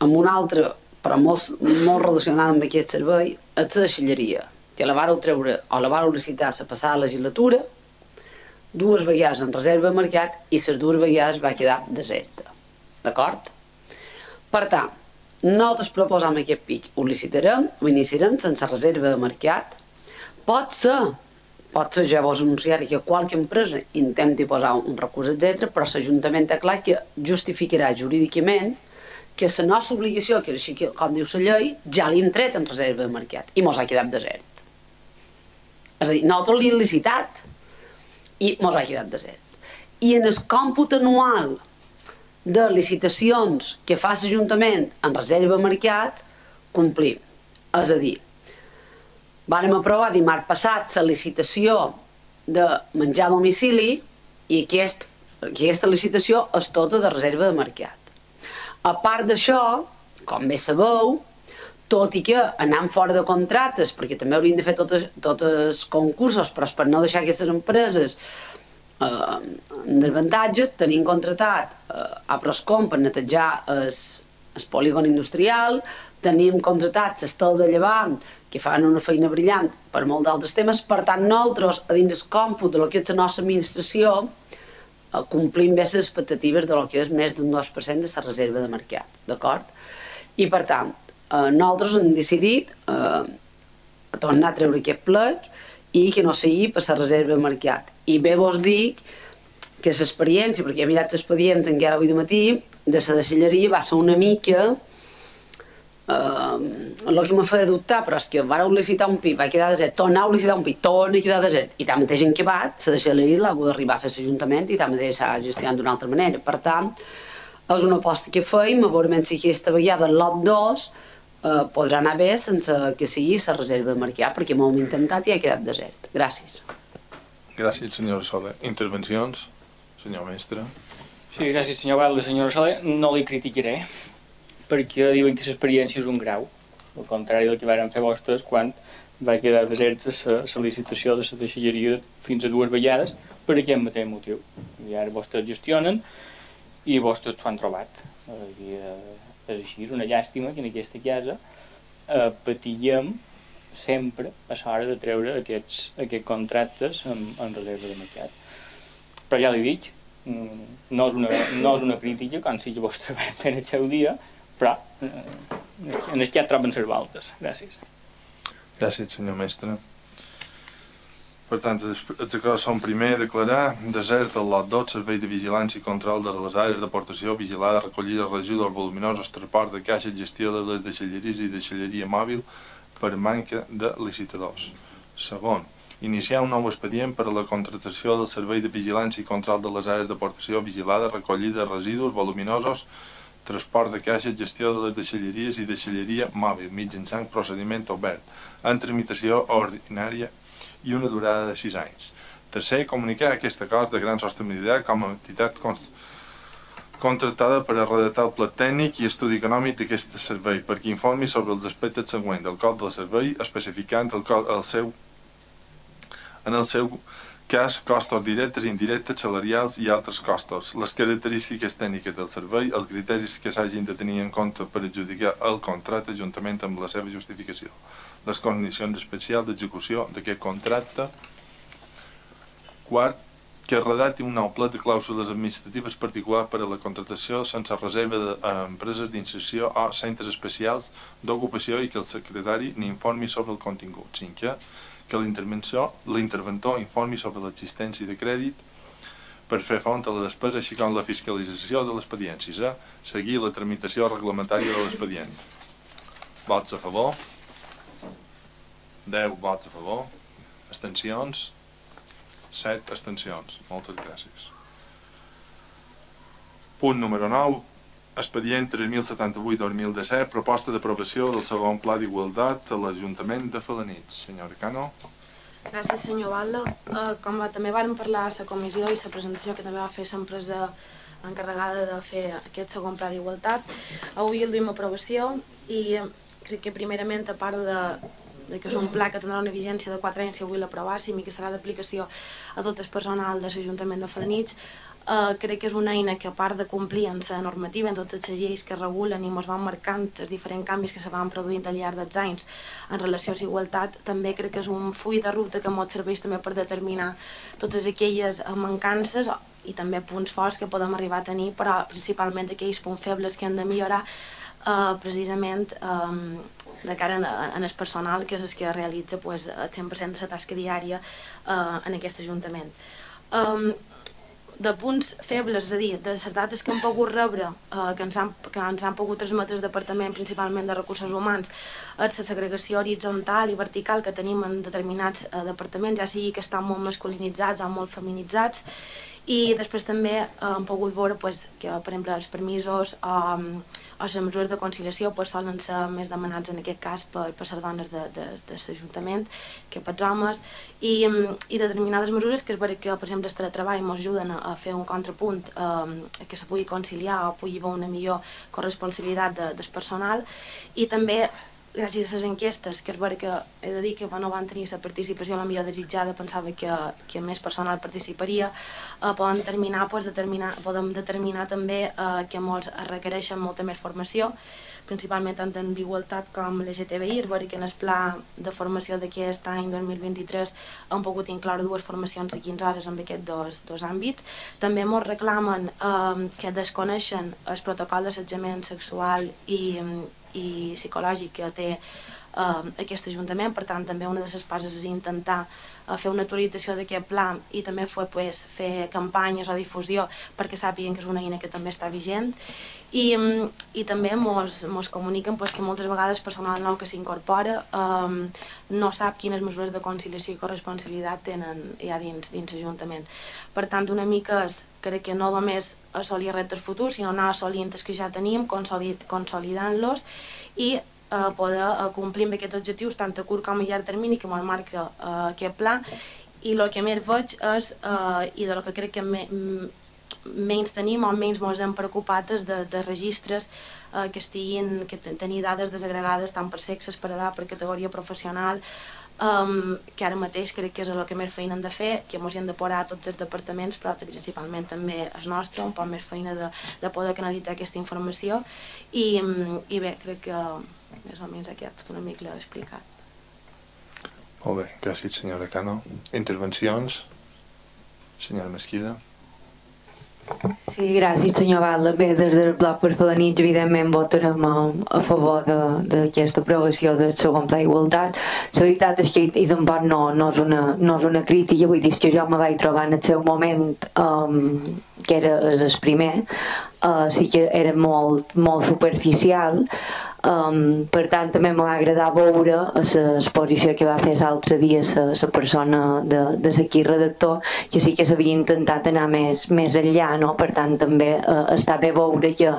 amb una altra, però molt relacionada amb aquest servei, és la deixalleria, que la vareu treure o la vareu licitar la passada legislatura, 2 vegades en reserva de mercat i les 2 vegades va quedar deserta. D'acord? Per tant, nosaltres proposam aquest pic, ho licitarem, ho iniciarem sense reserva de mercat. Pot ser, ja vos anunciaré que qualque empresa intenti posar un recurs, etc., però l'Ajuntament té clar que justificarà jurídicament que la nostra obligació, que és així com diu la llei, ja l'hem tret en reserva de mercat i mos ha quedat desert. És a dir, nosaltres l'hem licitat i mos ha quedat desert. I en el còmput anual de licitacions que fa l'Ajuntament en reserva de mercat, complim. És a dir, vàrem aprovar dimarts passat la licitació de menjar a domicili i aquesta licitació és tota de reserva de mercat. A part d'això, com bé sabeu, tot i que anant fora de contractes, perquè també hauríem de fer tots els concursos, però per no deixar aquestes empreses en desavantatge, tenim contratat a Proscom per netejar el polígon industrial, tenim contratat l'Estel de Llevant, que fan una feina brillant per molt d'altres temes. Per tant, nosaltres, a dins del còmput de lo que és la nostra administració, complim bé les expectatives de lo que és més d'un 2% de la reserva de mercat, d'acord? I per tant, nosaltres hem decidit tornar a treure aquest plec i que no sigui per la reserva de mercat. I bé vos dic que l'experiència, perquè he mirat l'expedient encara avui de matí, de la deixalleria va ser una mica el que m'ha fet dubtar, però és que vareu licitar un pit, va quedar desert, tornau a licitar un pit, torna a quedar desert, i tant mateix en què va, la deixalleria l'ha hagut d'arribar a fer l'Ajuntament i tant mateix s'ha gestionat d'una altra manera. Per tant, és una aposta que feim, a veure si aquesta vegada el lot 2 podrà anar bé sense que sigui la reserva de Marquià, perquè m'ho hem intentat i ha quedat desert. Gràcies. Gràcies, senyora Soler. Intervencions? Senyor mestre. Sí, gràcies, senyor Valde. Senyora Soler, no li criticaré, perquè diuen que l'experiència és un grau, al contrari del que varen fer vostès quan va quedar deserta la licitació de la deixalleria fins a 2 vegades per aquest mateix motiu. I ara vostès gestionen i vostès s'ho han trobat. I, és així, és una llàstima que en aquesta casa patiguem sempre a l'hora de treure aquests contractes en reserva de mercat. Però ja li dic, no és una crítica, com si vostè va fer el seu dia, però en el que ja troben les voltes. Gràcies. Gràcies, senyor mestre. Per tant, els acords són primer declarar desert el lot 2, servei de vigilància i control de les àrees d'aportació, vigilada, recollida, residus voluminosos, transport de caixes, gestió de les deixalleries i deixalleria mòbil per manca de licitadors. Segon, iniciar un nou expedient per a la contractació del servei de vigilància i control de les àrees d'aportació, vigilada, recollida, residus voluminosos, transport de caixes, gestió de les deixalleries i deixalleria mòbil, mitjançant procediment obert, en tramitació ordinària i una durada de 6 anys. Tercer, comunicar aquest acord de gran sostenibilitat com a entitat contractada per a redactar el pla tècnic i estudi econòmic d'aquest servei, perquè informi sobre els aspectes següents del cost del servei, especificant en el seu cas costos directes, indirectes, salarials i altres costos, les característiques tècniques del servei, els criteris que s'hagin de tenir en compte per adjudicar el contracte juntament amb la seva justificació, les condicions especials d'execució d'aquest contracte. Quart, que redacti un nou pla de clàusules administratives particulars per a la contractació sense reserva d'empreses d'inserció o centres especials d'ocupació i que el secretari n'informi sobre el contingut. Cinquè, que l'interventor informi sobre l'existència de crèdit per fer front a la despesa així com la fiscalització de l'expedient. Sisè, seguir la tramitació reglamentària de l'expedient. Vots a favor? 10 vots a favor. Abstencions? 7 abstencions. Moltes gràcies. Punt número 9. Expedient 3078-2017, proposta d'aprovació del segon pla d'igualtat a l'Ajuntament de Felanitx. Senyora Cano. Gràcies, senyor Valde. Com també vàrem parlar a la comissió i la presentació que també va fer l'empresa encarregada de fer aquest segon pla d'igualtat, avui el duim a aprovació i crec que primerament, a part de que és un pla que tindrà una vigència de 4 anys si avui l'aprovàssim i que serà d'aplicació a tot el personal de l'Ajuntament de Felanitx, crec que és una eina que, a part de complir en la normativa, en totes les lleis que regulen i ens van marcant els diferents canvis que se van produint al llarg dels anys en relació a la igualtat, també crec que és un full de ruta que ens serveix també per determinar totes aquelles mancances i també punts forts que podem arribar a tenir, però principalment aquells punts febles que hem de millorar precisament de cara en el personal, que és el que realitza el 100% de la tasca diària en aquest Ajuntament. De punts febles, és a dir, de les dades que hem pogut rebre, que ens han pogut transmetre el Departament, principalment de Recursos Humans, és la segregació horitzontal i vertical que tenim en determinats departaments, ja sigui que estan molt masculinitzats o molt feminitzats, i després també hem pogut veure que, per exemple, els permisos o les mesures de conciliació solen ser més demanats en aquest cas per les dones de l'Ajuntament que pels homes, i determinades mesures que és veritat que, per exemple, el teletreball ens ajuden a fer un contrapunt que se pugui conciliar o pugui haver una millor corresponsabilitat del personal, i també gràcies a les enquestes, que és veritat que he de dir que no van tenir la participació la millor desitjada, pensava que més personal participaria, podem determinar també que molts requereixen molta més formació, principalment tant en igualtat com LGTBI. És veritat que en el pla de formació d'aquest any 2023 hem pogut incloure 2 formacions de 15 hores en aquests dos àmbits. També ens reclamen que desconeixen el protocol d'assetjament sexual i psicològic que té aquest Ajuntament. Per tant, també una de les passes és intentar fer una actualització d'aquest pla i també fer campanyes o difusió perquè sàpiguen que és una eina que també està vigent, i també ens comuniquen que moltes vegades el personal nou que s'incorpora no sap quines mesures de conciliació i corresponsabilitat tenen ja dins l'Ajuntament. Per tant, una mica crec que no només assolir reptes futurs, sinó anar assolint els que ja tenim, consolidant-los i poder complir amb aquests objectius tant a curt com a llarg termini que ens marca aquest pla. I el que més veig és, i de lo que crec que menys tenim o menys ens hem preocupat és de registres que tenir dades desagregades tant per sexes, per edat, per categoria professional, que ara mateix crec que és el que més feina hem de fer, que ens hi hem de posar a tots els departaments, però principalment també el nostre, un poc més feina de poder canalitzar aquesta informació i bé, crec que més o menys aquí tot una mica l'he explicat. Molt bé, gràcies senyora Cano. Intervencions? Senyora Mesquida. Sí, gràcies senyor Valda. Bé, des del Bloc per Felanitx evidentment votarem a favor d'aquesta aprovació del segon pla d'igualtat. La veritat és que i tampoc no és una crítica, vull dir que jo me vaig trobar en el seu moment que era el primer, sí que era molt superficial. Per tant també m'ha agradat veure l'exposició que va fer l'altre dia la persona de l'equip redactor, que sí que s'havia intentat anar més enllà, no? Per tant també està bé veure que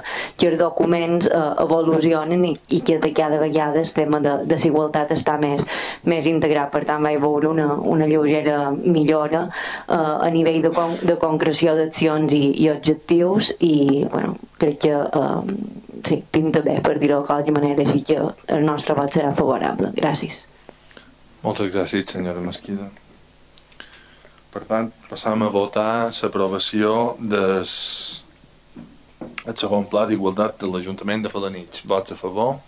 els documents evolucionen i que cada vegada el tema de desigualtat està més integrat. Per tant vaig veure una lleugera millora a nivell de concreció d'accions i objectius i bueno, crec que sí, pinta bé, per dir-ho de qualsevol manera, així que el nostre vot serà favorable. Gràcies. Moltes gràcies, senyora Mesquida. Per tant, passam a votar l'aprovació del segon pla d'igualtat de l'Ajuntament de Felanitx. Vots a favor?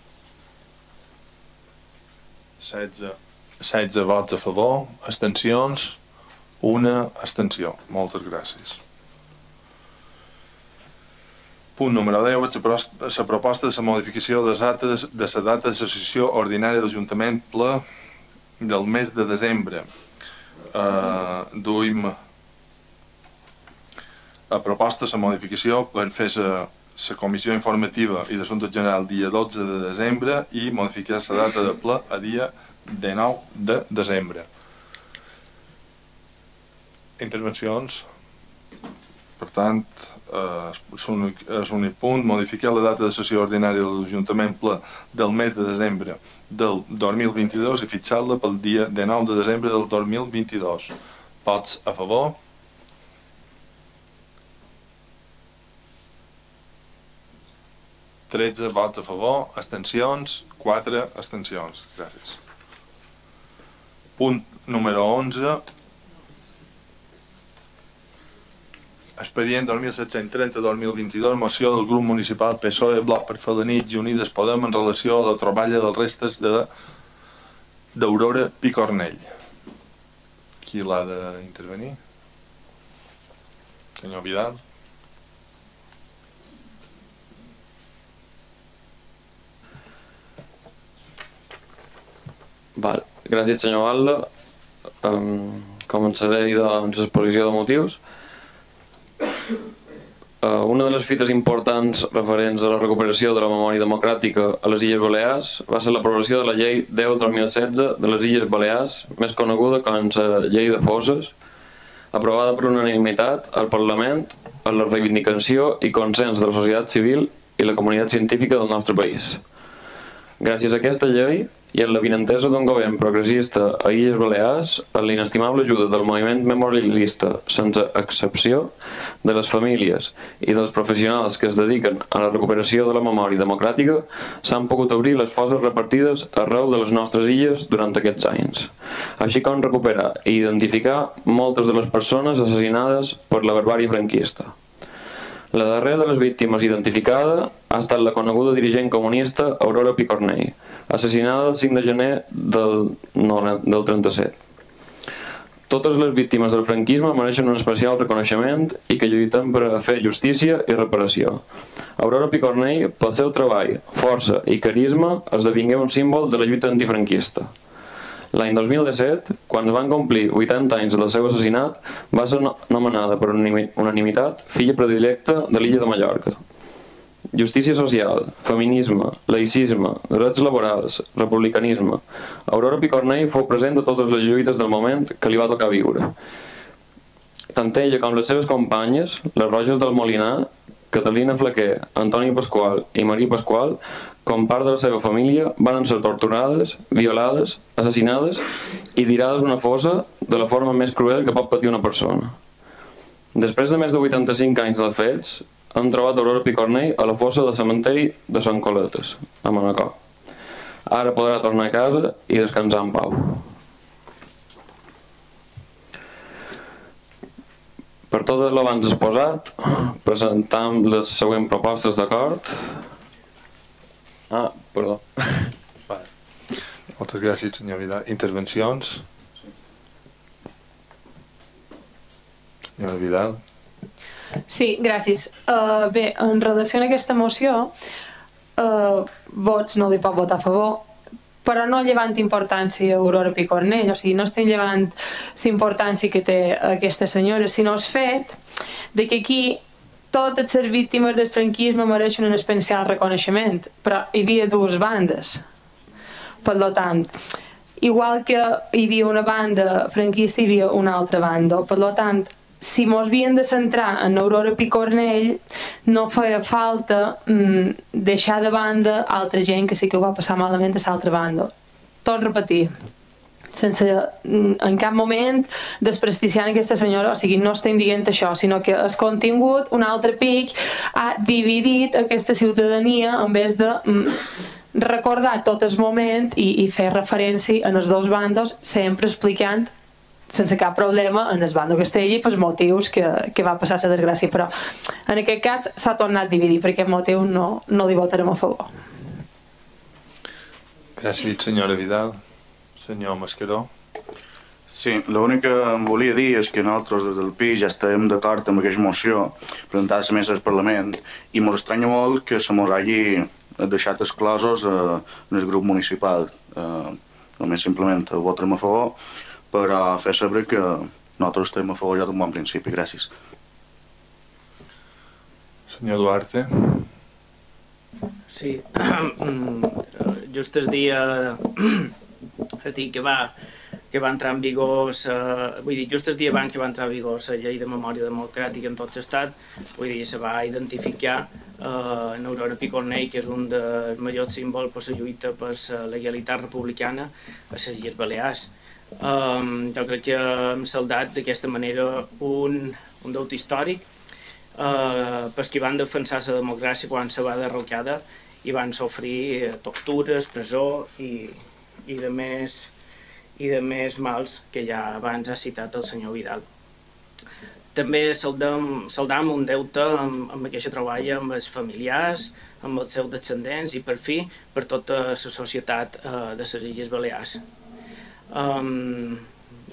16 vots a favor. Abstencions? Una abstenció. Moltes gràcies. Punt número 10. La proposta de la modificació de la data de la sessió ordinària de l'Ajuntament ple del mes de desembre. Duim a proposta de la modificació per fer la comissió informativa i d'assumptes general dia 12 de desembre i modificar la data de ple a dia 19 de desembre. Intervencions? Per tant, és un punt, modificar la data de sessió ordinària de l'Ajuntament ple del mes de desembre del 2022 i fixar-la pel dia 19 de desembre del 2022. Vots a favor? (13 vots a favor, abstencions, 4 abstencions. Gràcies. Punt número 11. Expedient 2730-2022, moció del grup municipal PSOE, Bloc per Felanitx i Unides Podem en relació a la troballa dels restes d'Aurora Picornell. Qui l'ha d'intervenir? Senyor Vidal. Gràcies, senyor Valda. Començaré doncs l'exposició de motius. Una de les fites importants referents a la recuperació de la memòria democràtica a les Illes Balears va ser l'aprovació de la llei 10/2016 de les Illes Balears, més coneguda com la llei de fosses, aprovada per unanimitat al Parlament en la reivindicació i consens de la societat civil i la comunitat científica del nostre país. Gràcies a aquesta llei i en l'avinentesa d'un govern progressista a Illes Balears, en l'inestimable ajuda del moviment memorialista, sense excepció, de les famílies i dels professionals que es dediquen a la recuperació de la memòria democràtica, s'han pogut obrir les fosses repartides arreu de les nostres illes durant aquests anys, així com recuperar i identificar moltes de les persones assassinades per la barbàrie franquista. La darrera de les víctimes identificada ha estat la coneguda dirigent comunista Aurora Picornell, assassinada el 5 de gener del 37. Totes les víctimes del franquisme mereixen un especial reconeixement i que lluitem per a fer justícia i reparació. Aurora Picornell, pel seu treball, força i carisma, esdevingué un símbol de la lluita antifranquista. L'any 2017, quan es van complir 80 anys del seu assassinat, va ser nomenada per unanimitat filla predilecta de l'illa de Mallorca. Justícia social, feminisme, laïcisme, drets laborals, republicanisme. Aurora Picornell fou present a totes les lluites del moment que li va tocar viure. Tant ella com les seves companyes, les Roges del Molinar, Catalina Flaquer, Antoni Pasqual i Maria Pasqual, com part de la seva família, van ser torturades, violades, assassinades i tirades a una fossa de la forma més cruel que pot patir una persona. Després de més de 85 anys dels fets, han trobat Aurora Picornell a la fossa del cementeri de Sant Coletes, a Manacor. Ara podrà tornar a casa i descansar en pau. Per tot l'abans exposat, presentam les següents propostes d'acord. Perdó. Moltes gràcies, senyor Vidal. Intervencions? Senyora Vidal. Sí, gràcies. Bé, en relació a aquesta moció, vots no li pot votar a favor, però no llevant importància a Aurora Picornell, o sigui, no estem llevant la importància que té aquesta senyora, sinó el fet de que aquí totes les víctimes del franquisme mereixen un especial reconeixement, però hi havia dues bandes. Per tant, igual que hi havia una banda franquista, hi havia una altra banda. Per tant, si mos havien de centrar en Aurora Picornell, no feia falta deixar de banda altra gent que sí que ho va passar malament a l'altra banda. Tot repetir, sense en cap moment desprestigiant aquesta senyora, o sigui, no estem dient això, sinó que el contingut, un altre pic, ha dividit aquesta ciutadania en vez de recordar tot el moment i fer referència a les dos bandes, sempre explicant sense cap problema en el bando Castelli pels motius que va passar la desgràcia, però en aquest cas s'ha tornat a dividir, per aquest motiu no li votarem a favor. Gràcies, senyora Vidal. Senyor Mascaró. Sí, l'únic que em volia dir és que nosaltres des del PI ja estem d'acord amb aquesta moció presentada a la mesa del Parlament i ens estranya molt que se ens hagi deixat exclosos en el grup municipal. Només simplement votarem a favor, però fer saber que nosaltres estem a favor ja d'un bon principi. Gràcies. Senyor Duarte. Sí, just el dia que va entrar en vigor, vull dir, just el dia abans que va entrar en vigor la llei de memòria democràtica en tot l'estat, vull dir, se va identificar en Aurora Picornell, que és un dels majors símbols per la lluita per la legalitat republicana a les Illes Balears. Jo crec que hem saldat d'aquesta manera un deute històric pels que van defensar la democràcia quan se va derrocada i van sofrir tortures, presó i de més mals que ja abans ha citat el senyor Vidal. També saldam un deute amb aquesta troballa amb els familiars, amb els seus descendents i per fi per tota la societat de les Illes Balears.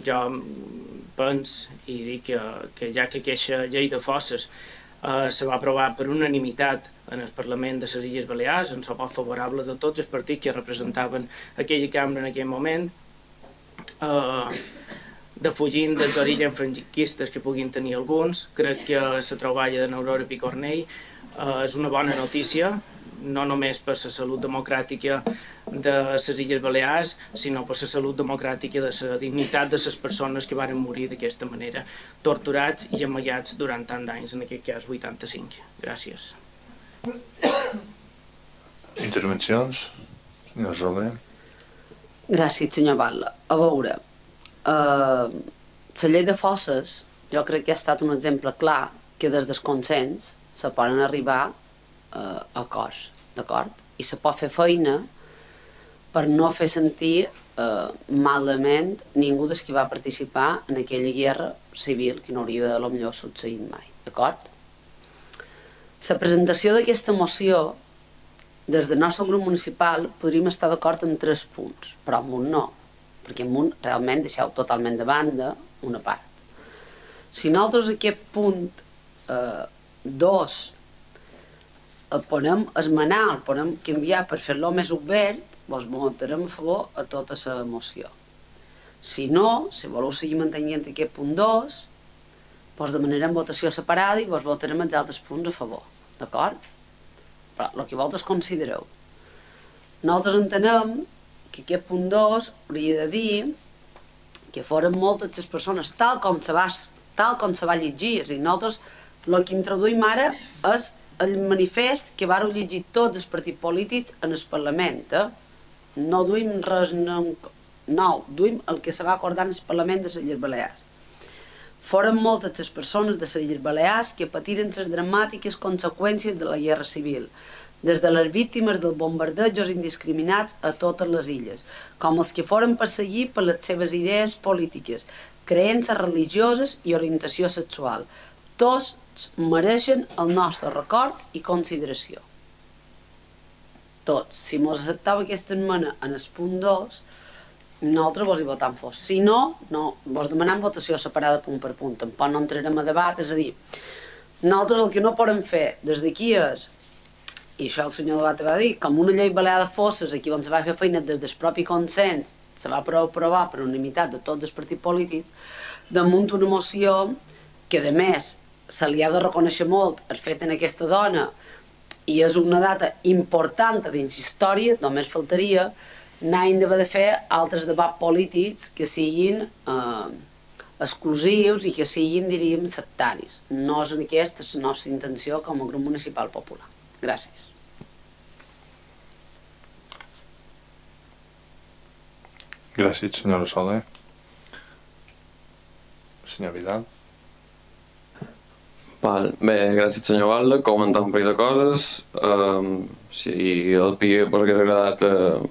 Jo penso i dic que ja que aquesta llei de fosses se va aprovar per unanimitat en el Parlament de les Illes Balears, en suport favorable de tots els partits que representaven aquella cambra en aquell moment, defugint dels orígens franquistes que puguin tenir alguns, crec que la troballa de Aurora Picornell és una bona notícia, no només per la salut democràtica de les Illes Balears, sinó per la salut democràtica de la dignitat de les persones que van morir d'aquesta manera, torturats i amagats durant tant d'anys, en aquest cas 85. Gràcies. Intervencions? Senyor Soler. Gràcies, senyor Batlle. A veure, la llei de fosses jo crec que ha estat un exemple clar que des del consens se poden arribar a acords, d'acord? I se pot fer feina per no fer sentir malament ningú dels que va participar en aquella guerra civil que no hauria de potser succeït mai, d'acord? La presentació d'aquesta moció, des del nostre grup municipal podríem estar d'acord en 3 punts, però en un no, perquè en un realment deixeu totalment de banda una part. Si nosaltres aquest punt 2 el podem esmenar, el podem canviar per fer-lo més obert, doncs votarem a favor a tota la moció. Si no, si voleu seguir mantenint aquest punt 2, doncs demanarem votació separada i doncs votarem els altres punts a favor, d'acord? Però el que vosaltres considereu. Nosaltres entenem que aquest punt 2 hauria de dir que foren moltes les persones tal com se va llegir, és a dir, nosaltres el que introduïm ara és el manifest que vareu llegir tots els partits polítics en el Parlament. No duim res nou, duim el que se va acordar en el Parlament de les Illes Balears. Foren moltes les persones de les Illes Balears que patiren les dramàtiques conseqüències de la guerra civil, des de les víctimes dels bombardejos indiscriminats a totes les illes, com els que foren perseguits per les seves idees polítiques, creences religioses i orientació sexual. Tots mereixen el nostre record i consideració. Tots. Si mos acceptava aquesta esmena en el punt 2, nosaltres vos hi votam fos. Si no, vos demanem votació separada punt per punt. Tampoc no entrarem a debat, és a dir, nosaltres el que no podem fer des d'aquí és, i això el senyor Debat va dir, com una llei balear de fosses, aquí on se va fer feina des del propi consens, se va aprovar per unanimitat de tots els partits polítics, damunt una moció que, a més, se li ha de reconèixer molt el fet en aquesta dona i és una data important dins història, només faltaria, n'hagin d'haver de fer altres debats polítics que siguin exclusius i que siguin, diríem, sectaris. No és aquesta la nostra intenció com a grup municipal popular. Gràcies. Gràcies, senyora Soler. Senyor Vidal. Bé, gràcies, senyor Valde. Comentar un parell de coses. Si el PIE us hagués agradat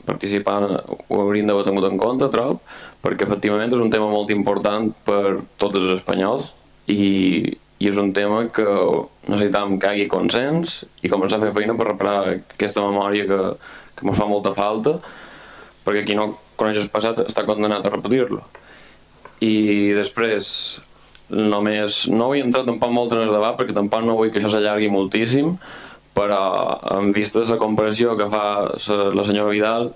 participar, ho hauríem d'haver tingut en compte, trob, perquè efectivament és un tema molt important per tots els espanyols i és un tema que necessitam que hi hagi consens i començar a fer feina per reparar aquesta memòria que ens fa molta falta, perquè qui no coneix el passat està condemnat a repetir-lo. I després, només no vull entrar tampoc molt en el debat perquè tampoc no vull que això s'allargui moltíssim, però en vista de la comparació que fa la senyora Vidal,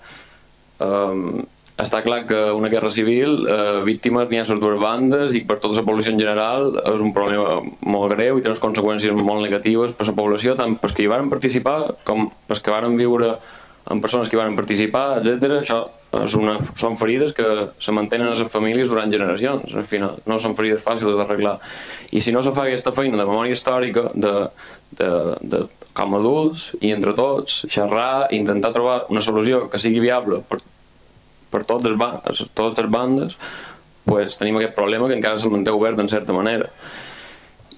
està clar que una guerra civil, víctimes n'hi ha a les dues bandes i per tota la població en general és un problema molt greu i té unes conseqüències molt negatives per a la població, tant pels que hi van participar com pels que van viure amb persones que hi van participar, etc. Això són ferides que se mantenen a les famílies durant generacions, al final no són ferides fàcils d'arreglar. I si no se fa aquesta feina de memòria històrica, com a adults i entre tots, xerrar i intentar trobar una solució que sigui viable per totes les bandes, tenim aquest problema que encara se'l manté obert en certa manera.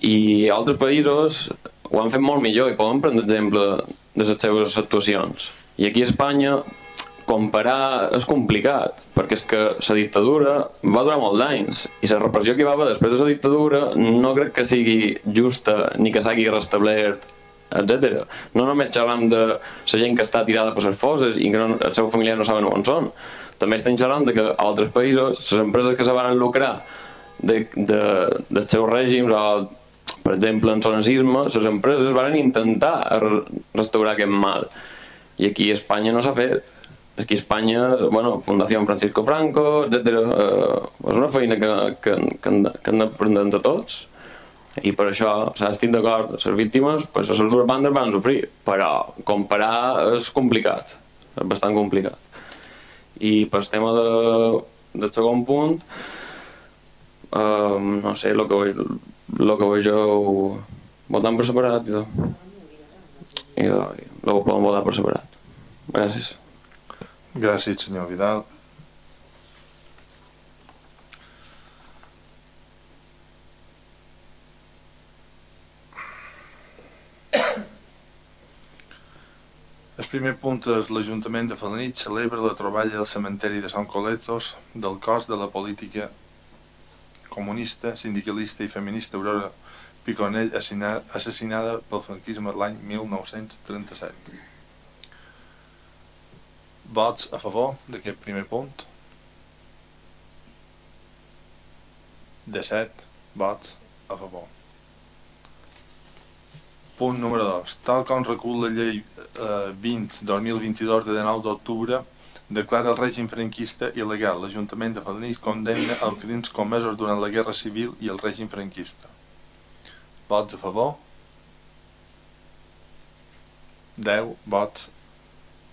I altres països ho han fet molt millor i poden prendre exemple de les seves actuacions. I aquí a Espanya comparar és complicat, perquè és que la dictadura va durar molts anys i la repressió que hi va haver després de la dictadura no crec que sigui justa ni que s'hagi restablert, etc. No només xerram de la gent que està tirada per les fosses i que els seus familiars no saben on són. També estem xerrant que a altres països les empreses que se van lucrar dels seus règims o, per exemple, en el nazisme, les empreses van intentar restaurar aquest mal. I aquí a Espanya no s'ha fet. Aquí a Espanya, Fundació Francisco Franco, etc. És una feina que han d'aprendre entre tots. I per això, estic d'acord, les víctimes, les dues bandes van sofrir, però comparar és complicat, és bastant complicat. I pel tema del segon punt, no sé, el que vegeu votant per separat i ho podem votar per separat. Gràcies. Gràcies, senyor Vidal. El primer punt és l'Ajuntament de Felanitx celebra la troballa del cementeri de Sant Coletos del cos de la política comunista, sindicalista i feminista Aurora Piconell, assassinada pel franquisme l'any 1937. Vots a favor d'aquest primer punt? 17 vots a favor. Punt número 2. Tal com recull la llei 20-2022 de 19 d'octubre, declara el règim franquista il·legal. L'Ajuntament de Felanitx condemna els crims comesos durant la Guerra Civil i el règim franquista. Vots a favor? 10 vots...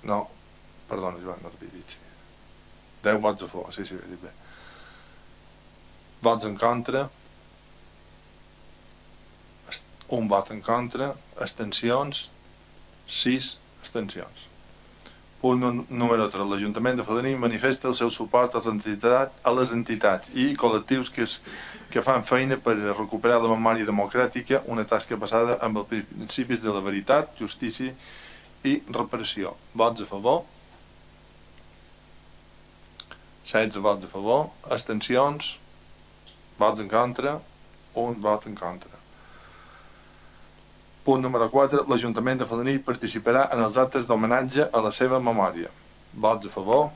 No, perdona, Joan, no t'havia dit. 10 vots a favor, sí, ho he dit bé. Vots en contra? un vot en contra, abstencions, 6 abstencions. Punt número 3. L'Ajuntament de Falaní manifesta el seu suport a les entitats i col·lectius que fan feina per recuperar la memòria democràtica, una tasca basada en els principis de la veritat, justícia i reparació. Vots a favor? 16 vots a favor, abstencions, vots en contra, un vot en contra. Punt número 4. L'Ajuntament de Falaní participarà en els actes d'homenatge a la seva memòria. Vots a favor?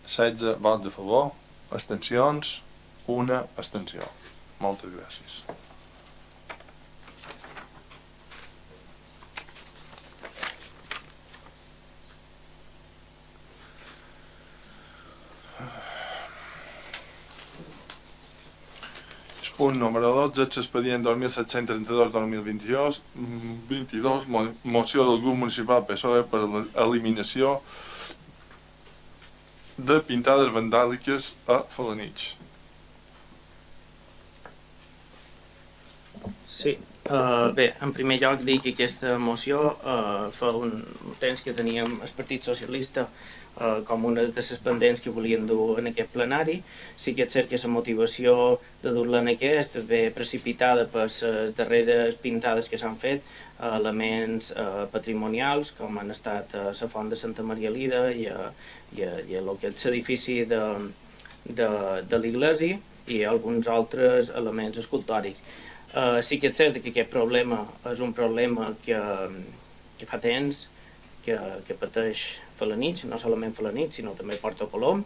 16 vots a favor, abstencions, una abstenció. Moltes gràcies. Punt número 12, expedient 2732-2022, moció del grup municipal PSOE per l'eliminació de pintades vandàliques a Felanitx. Sí, bé, en primer lloc dir que aquesta moció fa un temps que teníem el Partit Socialista com una de les pendents que volien dur en aquest plenari. Sí que és cert que la motivació de dur-la en aquest és bé precipitada per les darreres pintades que s'han fet, elements patrimonials com han estat la font de Santa Maria Lida i el que és l'edifici de l'església i alguns altres elements escultòrics. Sí que és cert que aquest problema és un problema que fa temps que pateix Felanitx, no solament Felanitx, sinó també Porto Colom,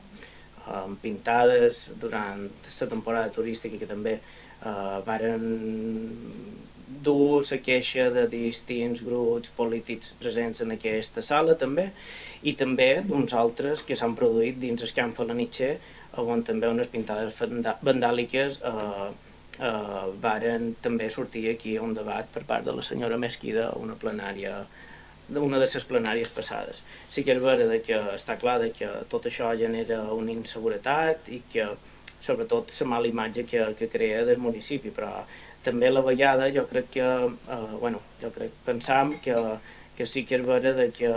pintades durant la temporada turística que també varen dur la queixa de distints grups polítics presents en aquesta sala també, i també d'uns altres que s'han produït dins el camp felanitxer, on també unes pintades vandàliques varen també sortir aquí un debat per part de la senyora Mesquida a una de les plenàries passades. Sí que és vera que està clar que tot això genera una inseguretat i que sobretot la mala imatge que crea del municipi, però també a la vegada jo crec que pensam que sí que és vera que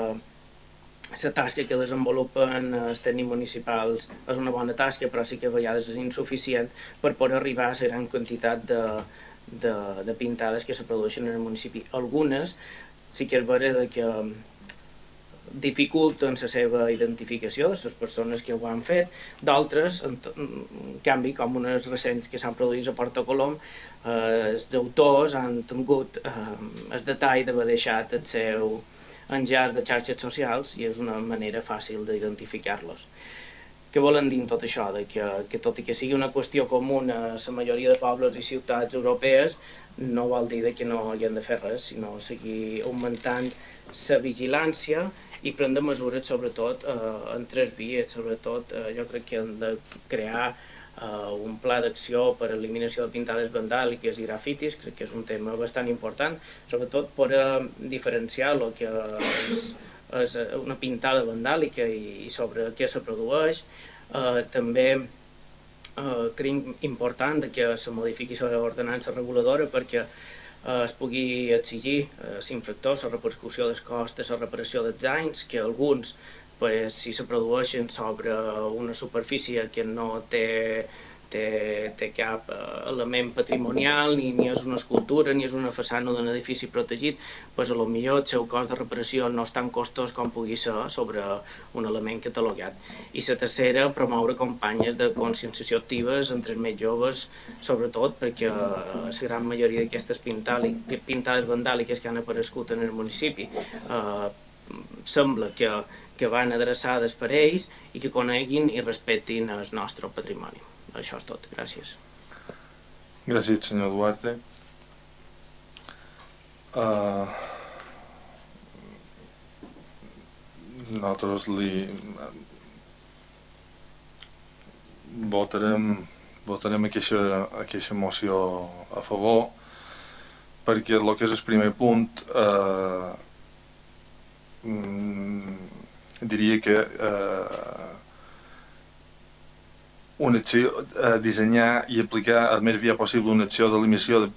la tasca que desenvolupen els tècnics municipals és una bona tasca, però sí que a vegades és insuficient per poder arribar a la gran quantitat de pintades que se produeixen en el municipi. Algunes sí que és vera que dificulten la seva identificació de les persones que ho han fet, d'altres, en canvi, com unes recents que s'han produït a Porto Colom, els autors han tingut el detall d'haver deixat el seu enllaç de xarxes socials i és una manera fàcil d'identificar-los. Què volen dir tot això? Que tot i que sigui una qüestió comuna a la majoria de pobles i ciutats europees, no vol dir que no hi hem de fer res, sinó seguir augmentant la vigilància i prendre mesures, sobretot en 3 vies. Sobretot jo crec que hem de crear un pla d'acció per a eliminació de pintades vandàliques i grafitis, crec que és un tema bastant important, sobretot per diferenciar el que és una pintada vandàlica i sobre què se produeix. També crec important que se modifiqui l'ordenança reguladora perquè es pugui exigir a l'infractor la repercussió dels costos de la reparació dels danys, que alguns, si se produeixen sobre una superfície que no té cap element patrimonial, ni és una escultura, ni és una façana d'un edifici protegit, potser el seu cost de reparació no és tan costós com pugui ser sobre un element catalogat. I la tercera, promoure campanyes de conscienciació actives entre els més joves, sobretot perquè la gran majoria d'aquestes pintades vandàliques que han aparegut en el municipi sembla que van adreçades per ells i que coneguin i respectin el nostre patrimoni. Això és tot. Gràcies. Gràcies, senyor Duarte. Nosaltres votarem aquesta moció a favor perquè el que és el primer punt diria que una acció, dissenyar i aplicar el més aviat possible una acció d'eliminació de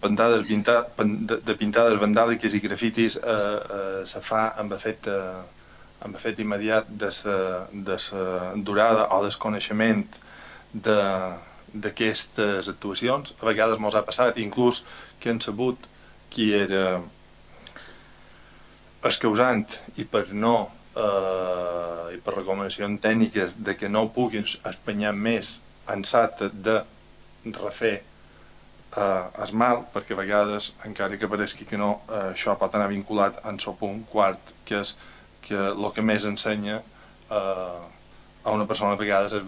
pintades vandàliques i grafitis se fa amb efecte immediat de la durada o desconeixement d'aquestes actuacions. A vegades mos ha passat inclús que hem sabut qui era el causant i per recomanacions tècniques de que no puguin espanyar més ansat de refer el mal, perquè a vegades, encara que pareixi que no, això pot anar vinculat en el punt quart, que és que el que més ensenya a una persona a vegades és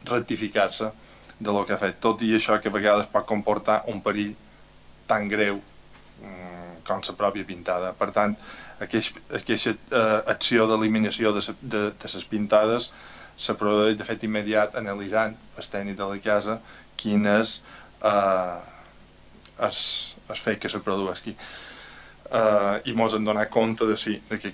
rectificar-se de lo que ha fet, tot i això que a vegades pot comportar un perill tan greu com la pròpia pintada. Per tant, aquesta acció d'eliminació de les pintades se produeix de fet immediat analitzant el tècnic de la casa quin és el fet que se produeixi. I mos hem donat compte que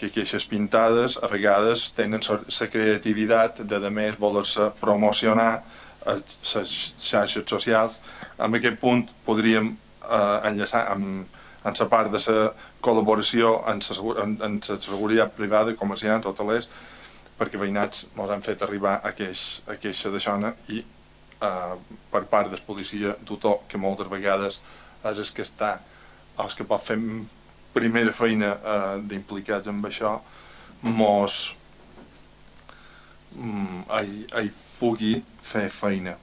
aquestes pintades a vegades tenen la creativitat de a més voler-se promocionar a les xarxes socials. En aquest punt podríem enllaçar amb la part de la col·laboració en la seguretat privada, comerciants, hotelers, perquè veïnats ens han fet arribar a queixa d'això i per part del policia tutor, que moltes vegades és el que està o el que pot fer primera feina d'implicats en això, hi pugui fer feina.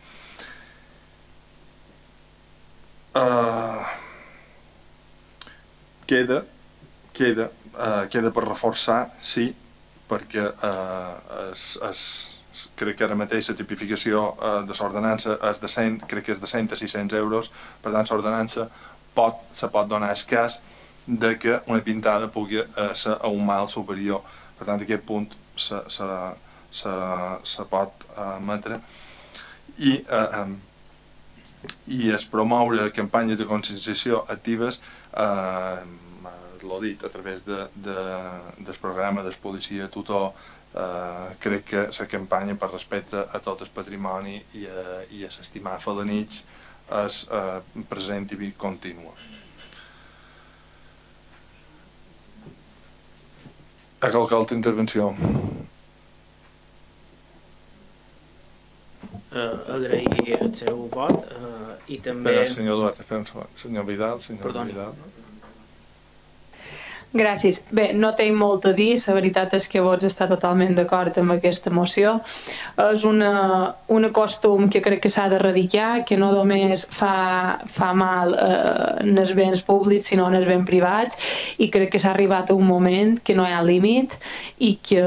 Queda per reforçar, sí, perquè crec que ara mateix la tipificació de l'ordenança és de 100, crec que és de 100 a 600 euros, per tant l'ordenança se pot donar el cas de que una pintada pugui ser a un mal superior. Per tant, aquest punt se pot emetre i es promoure campanyes de conscienciació actives, l'ho dit, a través del programa del policia tutor. Crec que la campanya per respecte a tot el patrimoni i a s'estimar felanits és present i contínua. A qualque altra intervenció? Agrair el seu vot i també... Espera, senyor Duarte, espera un segon. Senyor Vidal, Vidal. Gràcies. Bé, no tinc molt a dir, la veritat és que vots està totalment d'acord amb aquesta moció. És un costum que crec que s'ha d'erradicar, que no només fa mal en els béns públics, sinó en els béns privats, i crec que s'ha arribat a un moment que no hi ha límit i que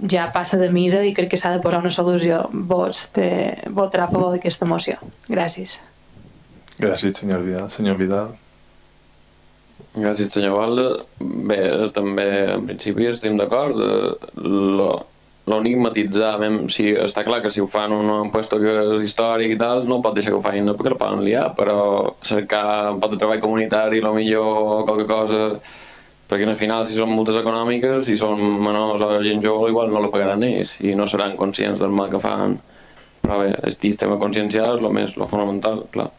ja passa de mida i crec que s'ha de posar una solució. Votarà a favor d'aquesta moció. Gràcies. Gràcies, senyor Vidal. Senyor Vidal. Gràcies, senyor Valde. Bé, també en principi estem d'acord. L'únic matitzar, si està clar que si ho fan un puesto que és històric i tal, no pot deixar que ho facin perquè el poden liar, però cercar un pot de treball comunitari, millor qualque cosa, perquè al final si són multes econòmiques, si són menors o gent jove, igual no la pagaran ells i no seran conscients del mal que fan. Però bé, el tema consciencial és lo fonamental, clar.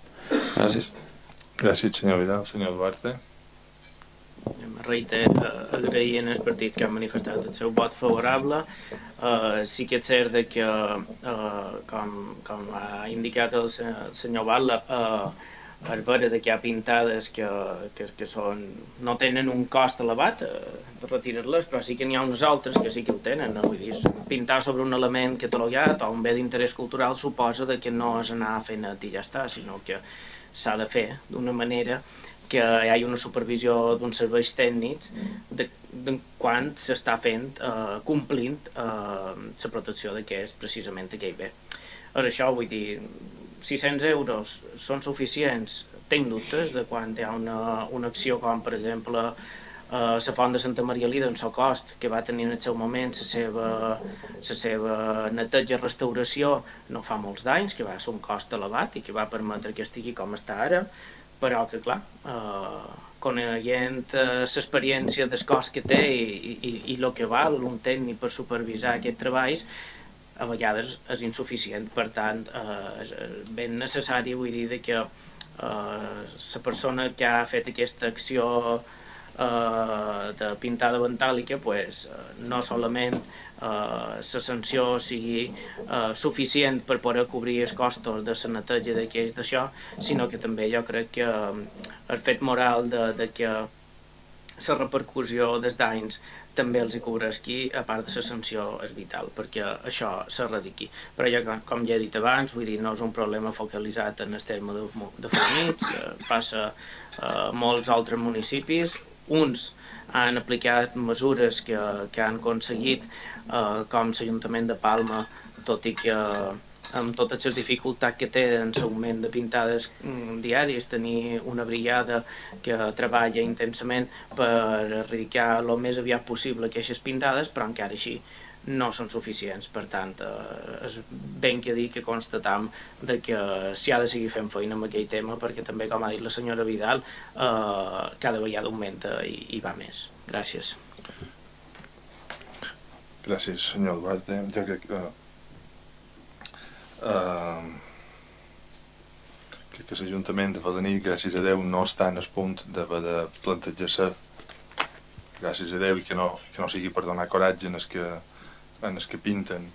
Gràcies. Gràcies, senyor Vidal. Senyor Duarte. Agraint els partits que han manifestat el seu vot favorable. Sí que és cert que, com ha indicat el senyor Batlle, és vera que hi ha pintades que no tenen un cost elevat, retirar-les, però sí que n'hi ha unes altres que sí que el tenen. Vull dir, pintar sobre un element catalogat o un bé d'interès cultural suposa que no és anar fent i ja està, sinó que s'ha de fer d'una manera que hi hagi una supervisió d'uns serveis tècnics de quan s'està fent, complint la protecció de què és precisament aquell bé. És això, vull dir, 600 euros són suficients? Tinc dubtes de quan hi ha una acció com, per exemple, la font de Santa Maria Lida en Socost, que va tenir en el seu moment la seva neteja i restauració no fa molts d'anys, que va ser un cost elevat i que va permetre que estigui com està ara, però que, clar, coneguent l'experiència del cost que té i el que val un tècnic per supervisar aquests treballs, a vegades és insuficient. Per tant, és ben necessari, vull dir, que la persona que ha fet aquesta acció de pintada vandàlica no solament la sanció sigui suficient per poder cobrir els costos de la neteja d'això, sinó que també jo crec que el fet moral de que la repercussió dels danys també els hi cobreixi, a part de la sanció, és vital, perquè això s'erradiqui. Però ja, com ja he dit abans, vull dir, no és un problema focalitzat en el terme de Felanitx, passa a molts altres municipis. Uns han aplicat mesures que han aconseguit, com l'Ajuntament de Palma, tot i que amb totes les dificultats que té en l'augment de pintades diàries, tenir una brigada que treballa intensament per erradicar el més aviat possible aquestes pintades, però encara així no són suficients. Per tant, és ben que dir que constatam que s'hi ha de seguir fent feina amb aquell tema, perquè també, com ha dit la senyora Vidal, cada vegada augmenta i va més. Gràcies. Gràcies, senyor Duarte. Jo crec que l'Ajuntament de Felanitx, gràcies a Déu, no està en el punt d'haver de plantejar-se, gràcies a Déu, i que no sigui per donar coratge en els que pinten,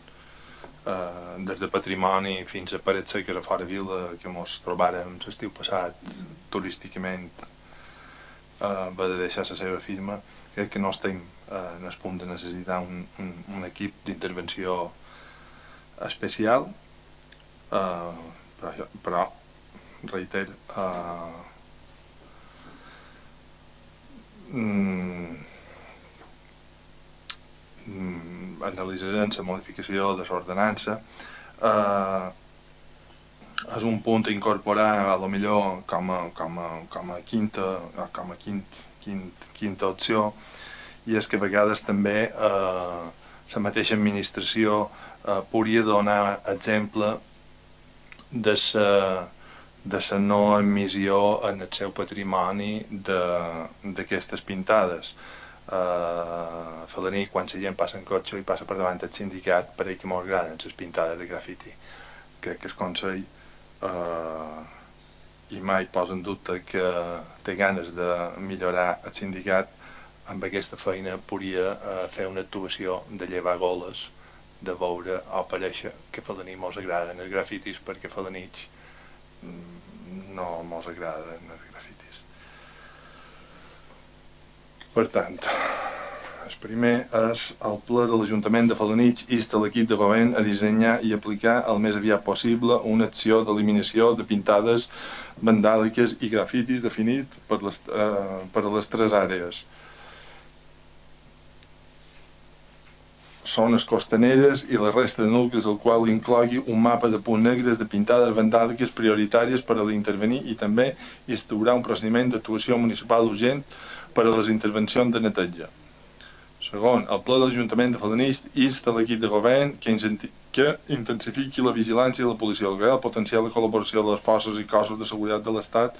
des de patrimoni fins a parets seques a fora vila, que ens trobàrem l'estiu passat turísticament, va de deixar la seva firma. Crec que no estem en el punt de necessitar un equip d'intervenció especial, però reiter, analitzarem la modificació de l'ordenança. És un punt a incorporar, potser com a quinta opció, i és que a vegades també la mateixa administració podria donar exemple de la no emissió en el seu patrimoni d'aquestes pintades. A Felanitx, quan la gent passa en cotxe i passa per davant del sindicat, pareix que molt agraden les pintades de grafiti. Crec que el Consell i mai posa en dubte que té ganes de millorar el sindicat. Amb aquesta feina podria fer una actuació de llevar goles, de veure o aparèixer que a Felanitx mos agraden els grafitis, perquè a Felanitx no mos agraden els grafitis. Per tant, el primer és el ple de l'Ajuntament de Felanitx insta l'equip de govern a dissenyar i aplicar el més aviat possible una acció d'eliminació de pintades vandàliques i grafitis definit per a les tres àrees: zones costaneres i la resta de nuclis, el qual inclogui un mapa de punts negres de pintades vandàliques prioritàries per a l'intervenir, i també instaurar un procediment d'actuació municipal urgent per a les intervencions de neteja. Segon, el ple de l'Ajuntament de Felanitx insta l'equip de govern que intensifiqui la vigilància de la policia local, potenciar la col·laboració de les forces i cossos de seguretat de l'Estat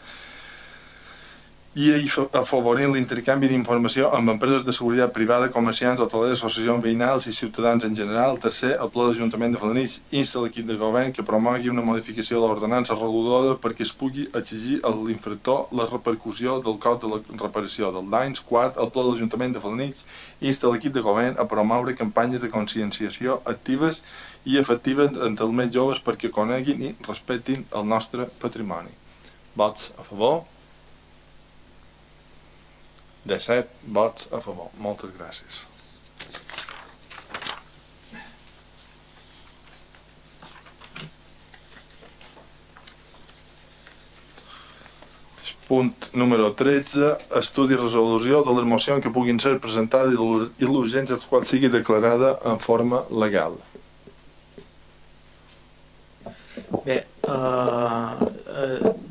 i afavorint l'intercanvi d'informació amb empreses de seguretat privada, comerciants, hotelers, associacions veïnals i ciutadans en general. Tercer, el ple de l'Ajuntament de Felanitx insta l'equip de govern que promogui una modificació de l'ordenança reguladora perquè es pugui exigir a l'infractor la repercussió del cost de la reparació dels danys. Quart, el ple de l'Ajuntament de Felanitx insta l'equip de govern a promoure campanyes de conscienciació actives i efectives entre els més joves perquè coneguin i respectin el nostre patrimoni. Vots a favor? 17 vots a favor. Moltes gràcies. Punt número 13. Estudi i resolució de les mocions que puguin ser presentades i l'urgència dels quals sigui declarada en forma legal. Bé,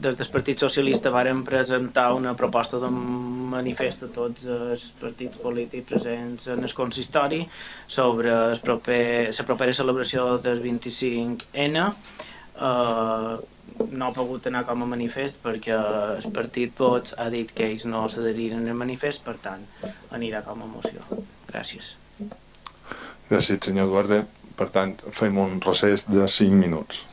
des del Partit Socialista vàrem presentar una proposta de manifest a tots els partits polítics presents en el consistori sobre la propera celebració del 25N. No ha pogut anar com a manifest perquè el partit Vots ha dit que ells no s'adheriren al manifest, per tant anirà com a moció. Gràcies. Gràcies, senyor Duarte. Per tant, fem un recés de 5 minuts.